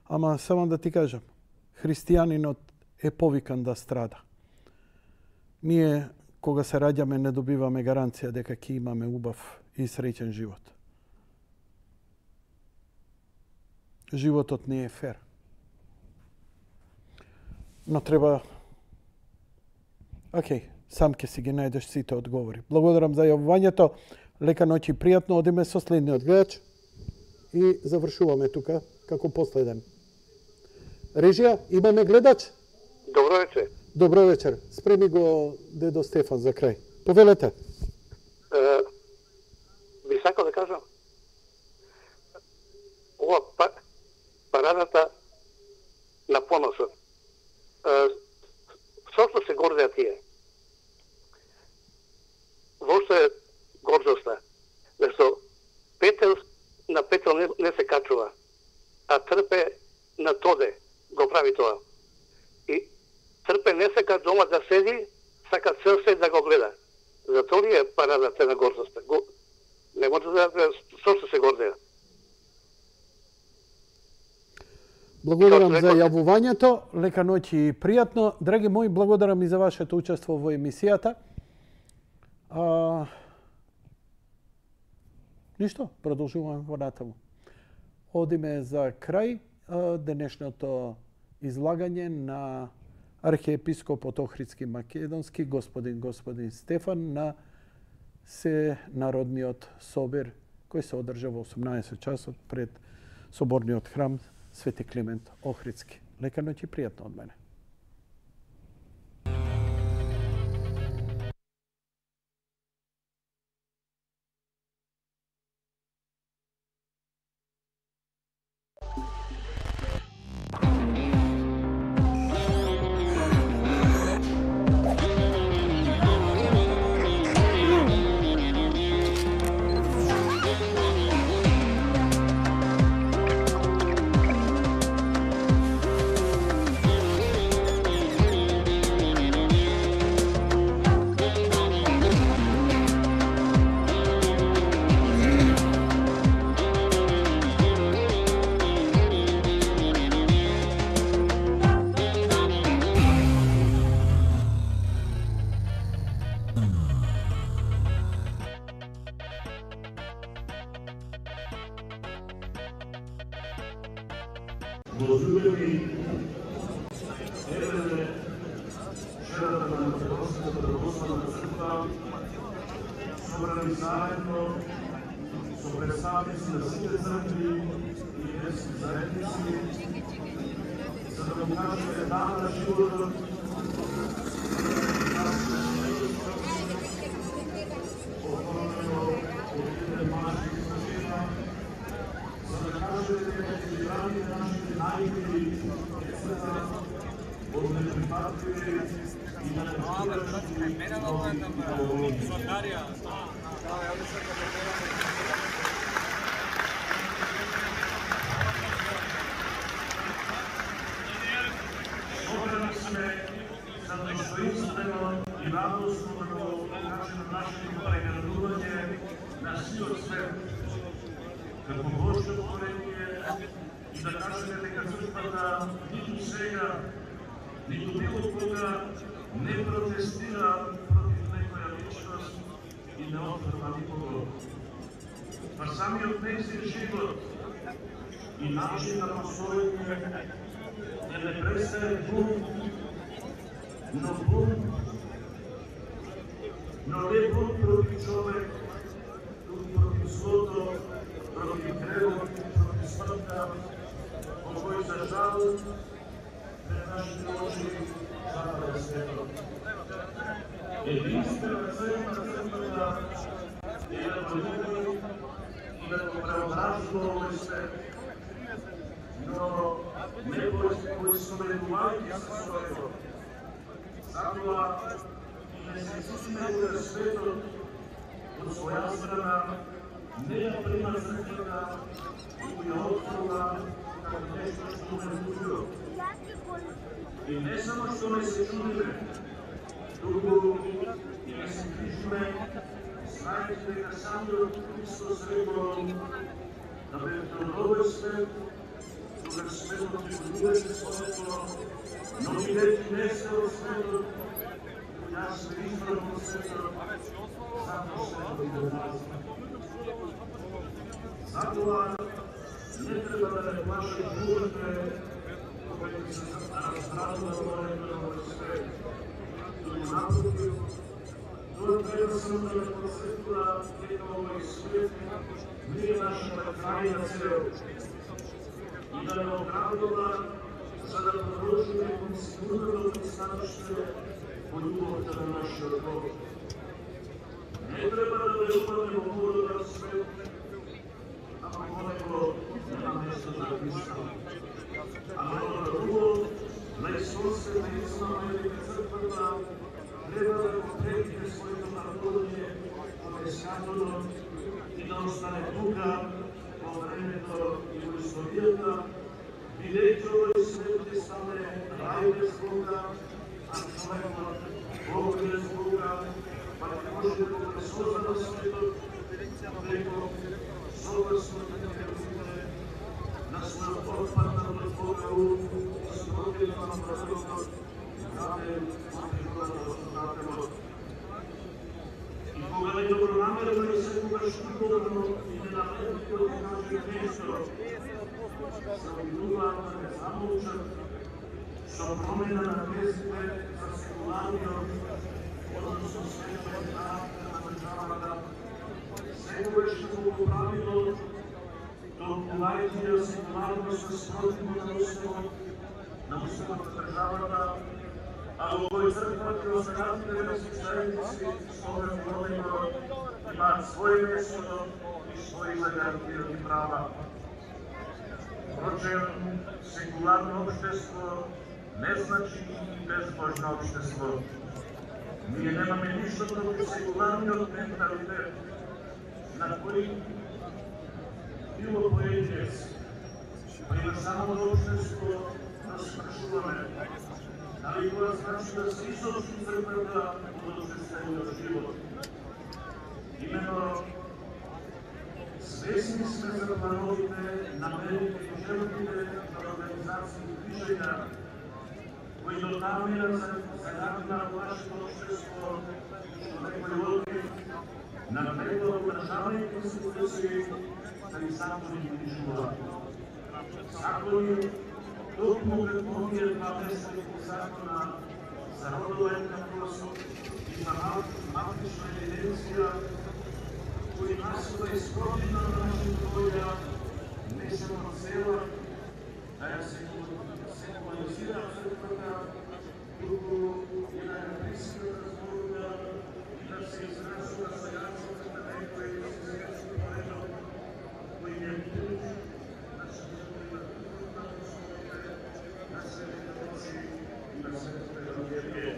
Ама само да ти кажам, христијанинот е повикан да страда. Ние, кога се раѓаме, не добиваме гаранција дека ќе имаме убав и среќен живот. Животот не е фер. Но треба... Сам ќе си ги најдеш сите одговори. Благодарам за јавувањето. Лека ноќ и пријатно. Одиме со следниот гледач и завршуваме тука како последен. Режија, имаме гледач? Добро вечер. Добро вечер. Спреми го дедо Стефан за крај. Повелете. Би сакал да кажам, ова парадата на поносот. Што се гордеа тие? Вошто е гордоста? Зашто петел на петел не се качува, а трпе на тоде го прави тоа. И трпе не сака дома да седи, сака цел свет да го гледа. Затоа ли е парадата на гордоста? Не може да што се гордеа. Благодарам за јавувањето. Лека ноќ и пријатно. Драги мои, благодарам и за вашето учество во емисијата. Ништо, продолжуваме во натаму. Одиме за крај денешното излагање на архиепископот Охридски Македонски, господин Стефан, на Народниот собир, кој се одржа во 18 часот пред соборниот храм Свети Климент Охридски. Лека ноќ и пријатно од мене. возлюбени, еве вчерата на Македонската православна црква собрани заедно со представници на сите цркви и верски заедници, за да му кажеме да на животот, оформено од еден мажки жена, за да кажеме дека ќе браните нашите најмили децата од неприпадливи и на собрани сме за достоинствено и радосно да го покажеме нашето преградување на сиот свет како Божјо творение и да кажеме дека црквата ниту сега, ниту било кога не протестира против некоја личност и не отфрла никого. Па самиот нејзин живот и начин на постоење не престае бунт, но не бунт против човек, туку против злото, против гревот, против смртта, по кој за жал пред нашите очи запада светот. Единствена цел на црквата е да го люби и да го преобразува овој свет, но не поистоветувајќи се со него. Затоа и не се чувствиме дека светот од своја страна не ја прима црквата и ја отфрла како нешто што не чудило. И не само што не се чудиме, туку и не се грижиме, знаејќи дека самиот Христос рекол да бевте од овој свет, кога светот ќе го любеше своето, но бидејќи не сте од светот, јас ве избрав од светот, затоа светот го мразам. Затоа не треба да не плаши бурите, кога ќе се разградува горето на овој свет. Туку напротив, тоа треба само да не подсетува дека овој свет не е нашата крајна цел и да не оградува за да продолжиме кон сигурното пристаниште по љубовта на нашиот Бог. Не треба да преупадне во мудот свет, ако во него нема место за Христа. Ама ono друго, на Исусовата истина е дека црквата треба да го прекине своето наполање од ескатото и да остане тука во времето и во историјата, бидејќи овој свет ќе стане рај без Бога, а човекот Бог без Бога, па ќе може да го пресоза на светот преко согласното неверување на својот отпаднат од Бога ум, спротивно на правилот, граден од дателот. И кога не добронамерно и секогаш любовно и ненамерно да каже нешто, се обидуваат да не замолчат со промена на тезите за секуларниот, односно светот карактер на државата, секогаш го поправило, толкувајќи ја секуларно со спротивно на уставот на државата, а во овој црквата и останатите верски заедници со овој промено имаат своје место и своји загарантирани права. Впрочем, секуларно општество не значи и безбожно општество. Ние немаме ништо против секуларниот менталитет, на кој било поединец, па и на самото општество да спрашуваме дали тоа значи да се изолчи црквата од обществениот живот. Имено, свесни сме за плановите, намерите и желбите на организации и движења, кои дотамира загадна нашето общество, што некои логи на преглед државните институции да ни само да ги движуваат. Закони токму како овие два месечни закона за родова еднаквост и за матична евиденција, кои насила исковина на нашата воја не само цела да ја секуларизира црквата, туку и да ја присилата зборува и да се изразува сајанството на некои сијачки поредок, кои не бидат на шатовите на основите на светите Божи и на светите Евангелие.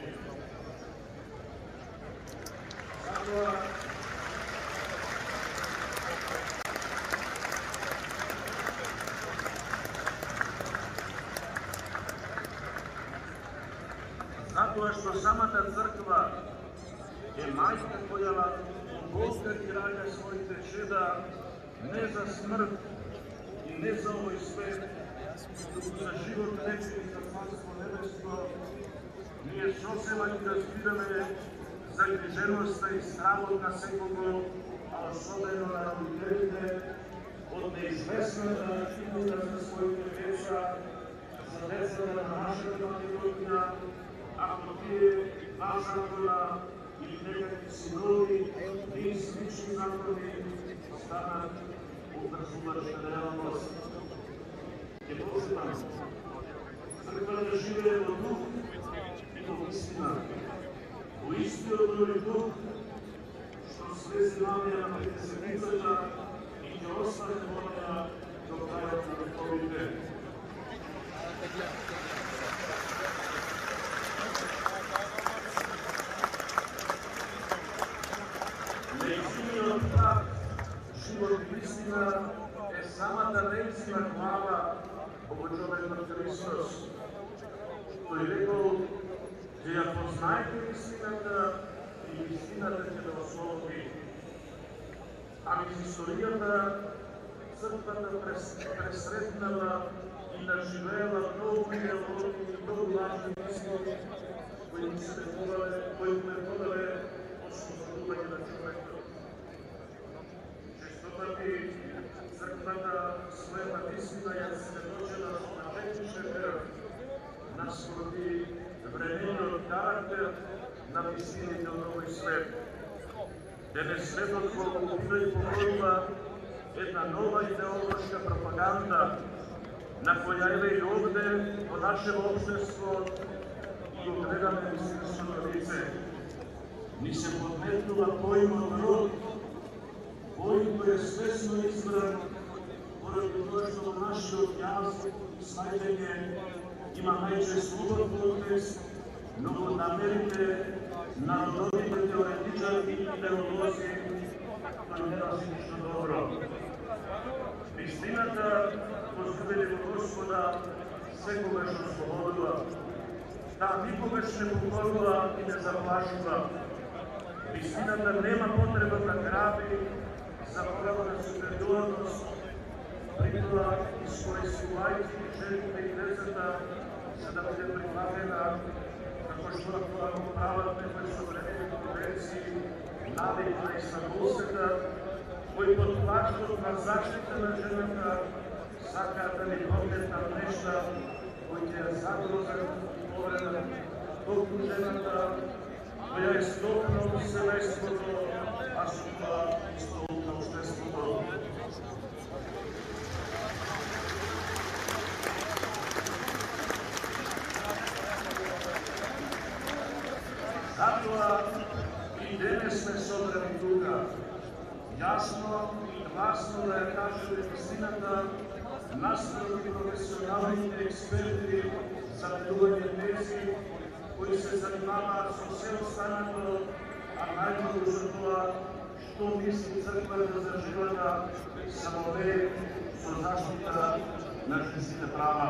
Затоа што самата црква е мајка која Бога ги раѓа своите чеда не за смрт и не за овој свет, туку за живот вечен и за Царство небеско, ние сосема ги разбираме загриженоста и стравот на секого, а особено на родителите, од неизвестната идеја за своите деца, за децата на нашата Македонија, ако тие два закона или некакви синови, и слични закони станат образувачна реалност. Ќе почитам, црквата живее во дух и во истина, во истиот тој дух, што слезе намија на Петдесетницата и ќе остане во неа до крајот на вековите. Нејзиниот прав, живот и истина е самата нејзина глава, обојчовекот Христос. Тој рекол, че ја познаете истината и истината ќе да ослободи. А низ историјата црквата пресретнала и наживеела многу идеологии и многу лажни мисли, кои се преподаве освободување на човекот. Честопати црквата својата истина ја сведочила на техничен крв наспроти времениот карактер на вистините од овој свет. Денес светот го окупира и покорува една нова идеолошка пропаганда, на која еве и овде во нашето општество и го гледаме вистинското лице. Ни се подметнува поимот род, кој е свесно избран, поради тоа што во нашиот јаз и сваѓање има најчесто убав контекст, но во намерите на родовите теоретичари и идеолози тој не носи ништо добро. Вистината возлюбени во Господа секогаш ослободува. Таа никогаш не покорува и не заплашува. Вистината нема потреба да граби за право на супериорност, при тоа искористувајќи жените и децата за да биде прифатена, како што тоа го прават некои современи конвенции, навикна и Стамбулската, кои под плаштот на заштита на жената сакаат да ни прометнат нешта кои ќе ја загрозат и повредат токму жената, која е столбна од семејството, а со тоа и столб на општеството. Затоа и денес сме собрани тука, јасно и гласно да ја кажеме вистината наспроти професионалните експерти за делување тези кои се занимаваат со се останато, а најмногу за тоа што мисли црквата за живота само ве со заштита на женските права.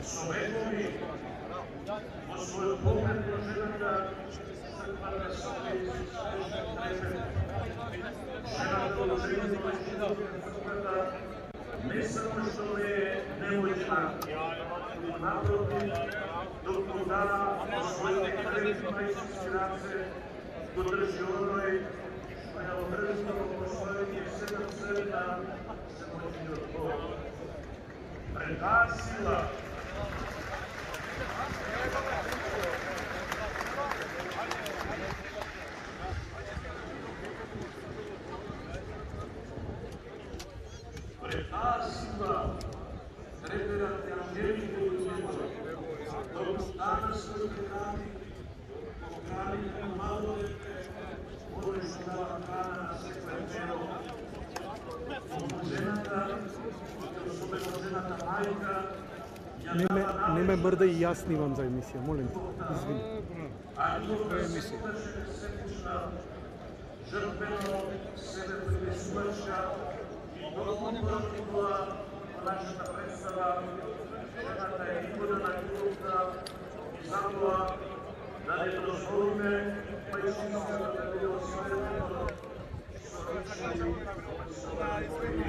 Со векови во својот поглед на жената црквата се свежен трепет. Жената од жените црквата не само што не е немојна, но напротив, докато дава во своите крепни мајчински раце, го држи оној што ја одржува во својот 7 срна се мојниот Бог. Пред таа сила треперат и ангелите од небото, докато стана своите рани, пограбите на малолетне, кој што дава храна на секој тело. Жената, особено жената мајка, Не ме мрда и јас снимам за емисија, молим те. Извини. А Бога се секушна, жртвено себе принесувача и толку проникла нашата представа, жената е икона на љубовта и затоа да не дозволиме мајчинството да биде осветено со речи и со лагоди.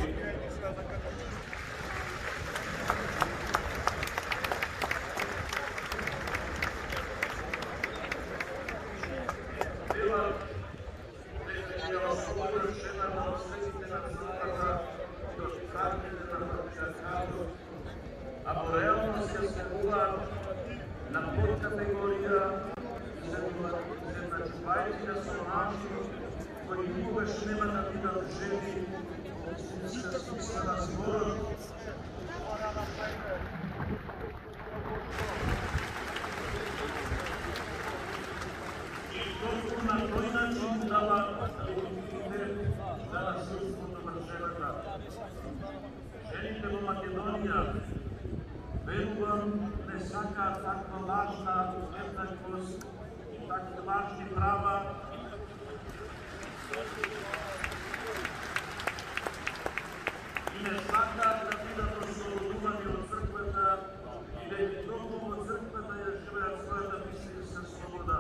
Ако реално се следува на подкатегорија земначувајќи со мажи кои никогаш нема да бидат жени во истинска смисла на зборот. И толку на тој начин дава легитимитет за насилството на жената. Жените во Македонија верувам не сакаат таква важна еднаквост и такви важни права. И не сакаат да бидат ослободувани од црквата и веќе толку во црквата ја живеат својата мислениска слобода.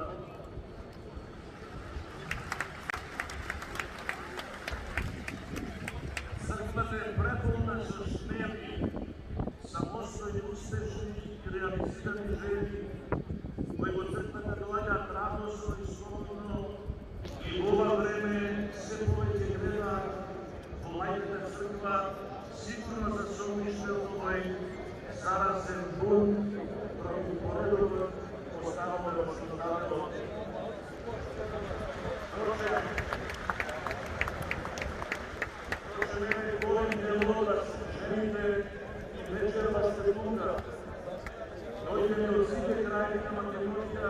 Црквата е преполна со смели, самостојни, успешни и реализирани жени, кои во црквата доаѓаат радосно и слободно и во ова време се повеќе гледаат во мајката црква, сигурно за сомнишен овој заразен бунт против поредокот поставаме во Создателот. Вечерва секунда, дојдеме од сите крајни на Македонија,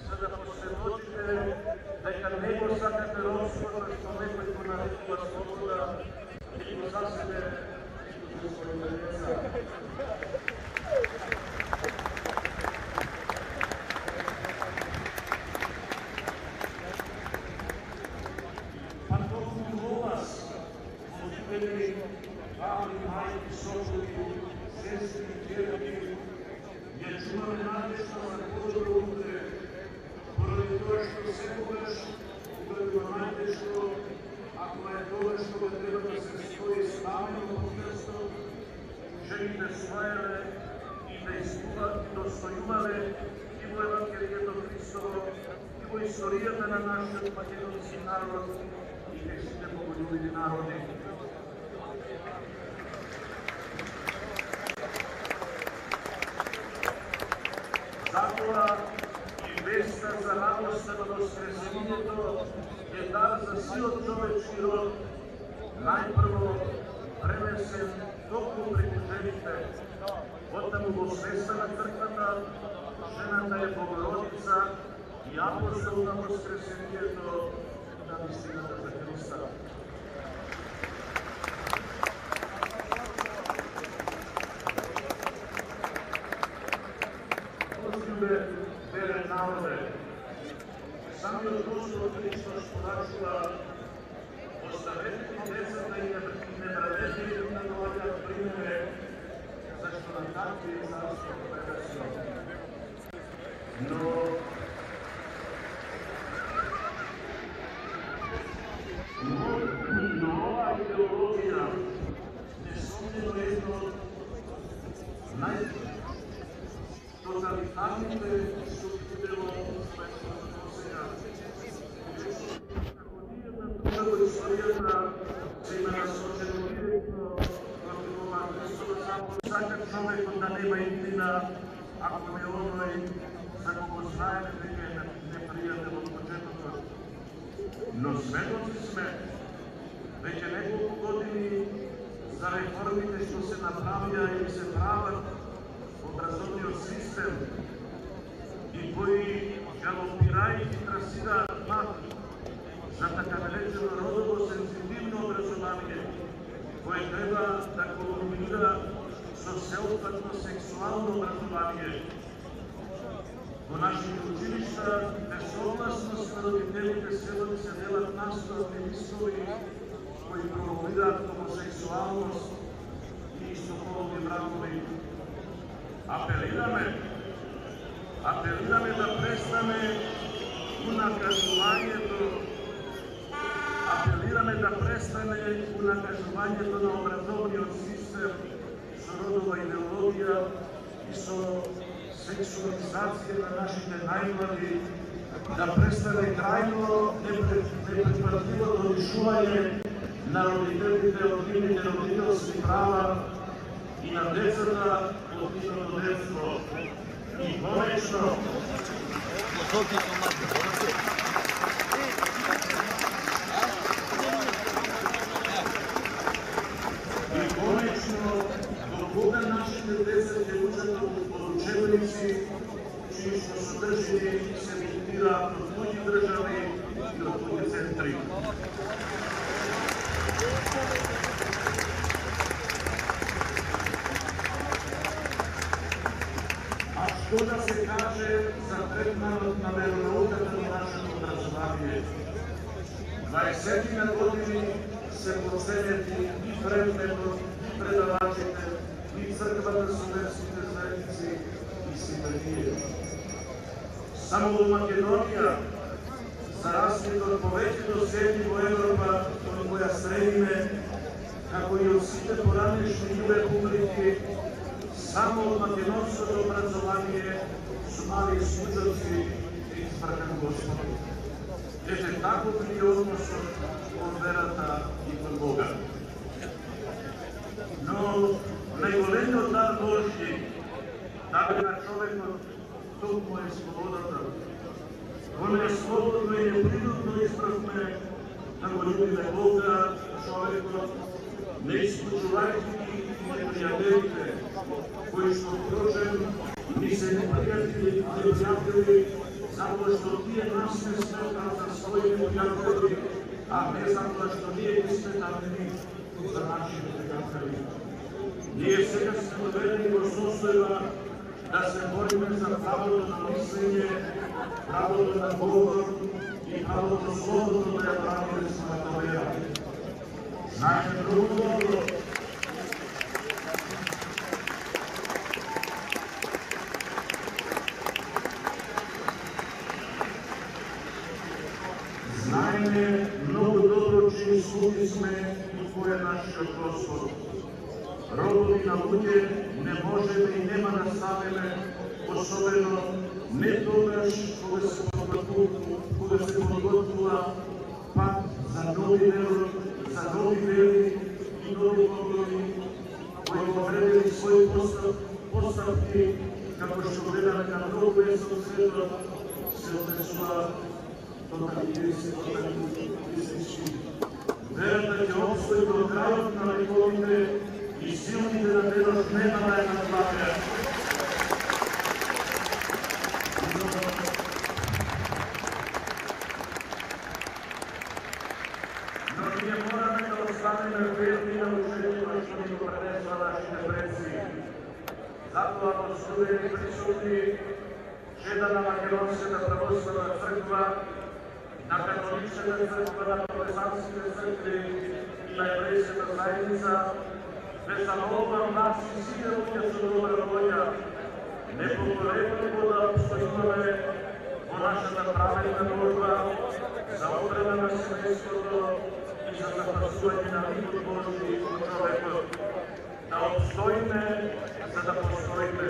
за да посведочите дека не го сакате робството што некој го нарекува слобода и го за себе и за своите деца. А толку во вас, молители, баби, мајки, сопруги, сестри, ќерки, ја чуваме надежда за подобро утре, поради тоа што секогаш, когато има најтешко, ако е тоа што го треба да се стои ставено во крстот, жените својаве и да достојувале и во Евангелието Христово, и во историјата на нашиот македонски народ и нешите боголюбиви народи. Затоа и веста за радоста на воскресението е дар за сиот човечки род, најпрво пренесен токму преку жените. Оттаму во свеста на црквата, жената е Богородица и апостол на воскресението на вистината за Христа. Верен народе, самиот Господ Христос порачува, оставете ги децата и не правете ги да доаѓаат при мене, зашто на такви е Царство Небесно. Но ова идеологија несомнено е едно од тоталитарните структури во својот досега. Како во историјата се има насочено директно против ова Христова заповед, но сведоци сме веќе неколку години за реформите што се направија и се прават образовниот систем и кои галопирајќи трасираат пат за така наречено родово сензитивно образование, кое треба да колуминира со сеопфатно сексуално образование. Во нашите училишта, без согласност на родителите, се делат наставни листови кои промовираат хомосексуалност и истополни бракови. Апелираме да престане унакажувањето на образовниот систем со родова идеологија и со сексуализација на нашите најмлади, да престане крајно непредпатливото лишување на родителите од нивните родителски права и на децата од нивното детство. И конечно, до кога нашите деца ќе учат од учебници чии што содржини се емитираат од туѓи држави и од туѓи центри. А што да се каже за третманот на веронауката во нашето образование? 20 години се проценети и предметот, и предавачите, и црквата со верските заедници и синагија. Само во Македонија, за разлика од повеќето земји во Европа, од која стремиме, како и од сите поранешни републики, само од македонското образование со мали случајци и избракан Господ. Ете таков ни односот кон верата и кон Бога. Но најголемиот дар Божји, дар на човекот, толку е слободата. Во неслободно и неприродно избравме да го љубиме Бога, човекот, не исклучувајќи ги непријателите, кои што впрочем ни се непријатели, али пријатели, затоа што тие нас не сметат за своји пријатели, а не затоа што ние ги сметаме за нашите пријатели. Ние сега сме доведени во состојба да се бориме за правото на мислење, правото на говор и правото слободно да ја правиме својата вера. Знаете многу добро чии слуги сме и кој е нашиот Господ. Родови на луѓе не можеме и нема да ставиме, особено не тогаш кога се подготвува пат за нови вери и нови погледи, кои повредили своји поставки, како што гледаме на многу место светот, се однесува тоталитаристички. Верата ќе обстои до крајот на вековите и силните на денот нема да ја надвладеат. Но ние мораме да останеме верни на учението што ни го пренесла нашите предци. Затоа во студени присутни чеда на Македонската православна црква, на католичката црква, на протестантските цркви и на еврејската заедница, ве замолувам нас и сите луѓе со добра волја, непоколебливо да обстојуваме во нашата праведна борба за одбрана на семејството и за запазување на мирот Божји во човекот. Да обстоиме за да постоиме.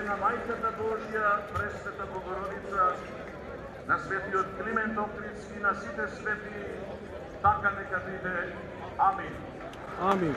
На Мајката Божја, Пресвета Богородица, на светиот Климент Охридски, на сите свети, така нека биде. Амин. Амин.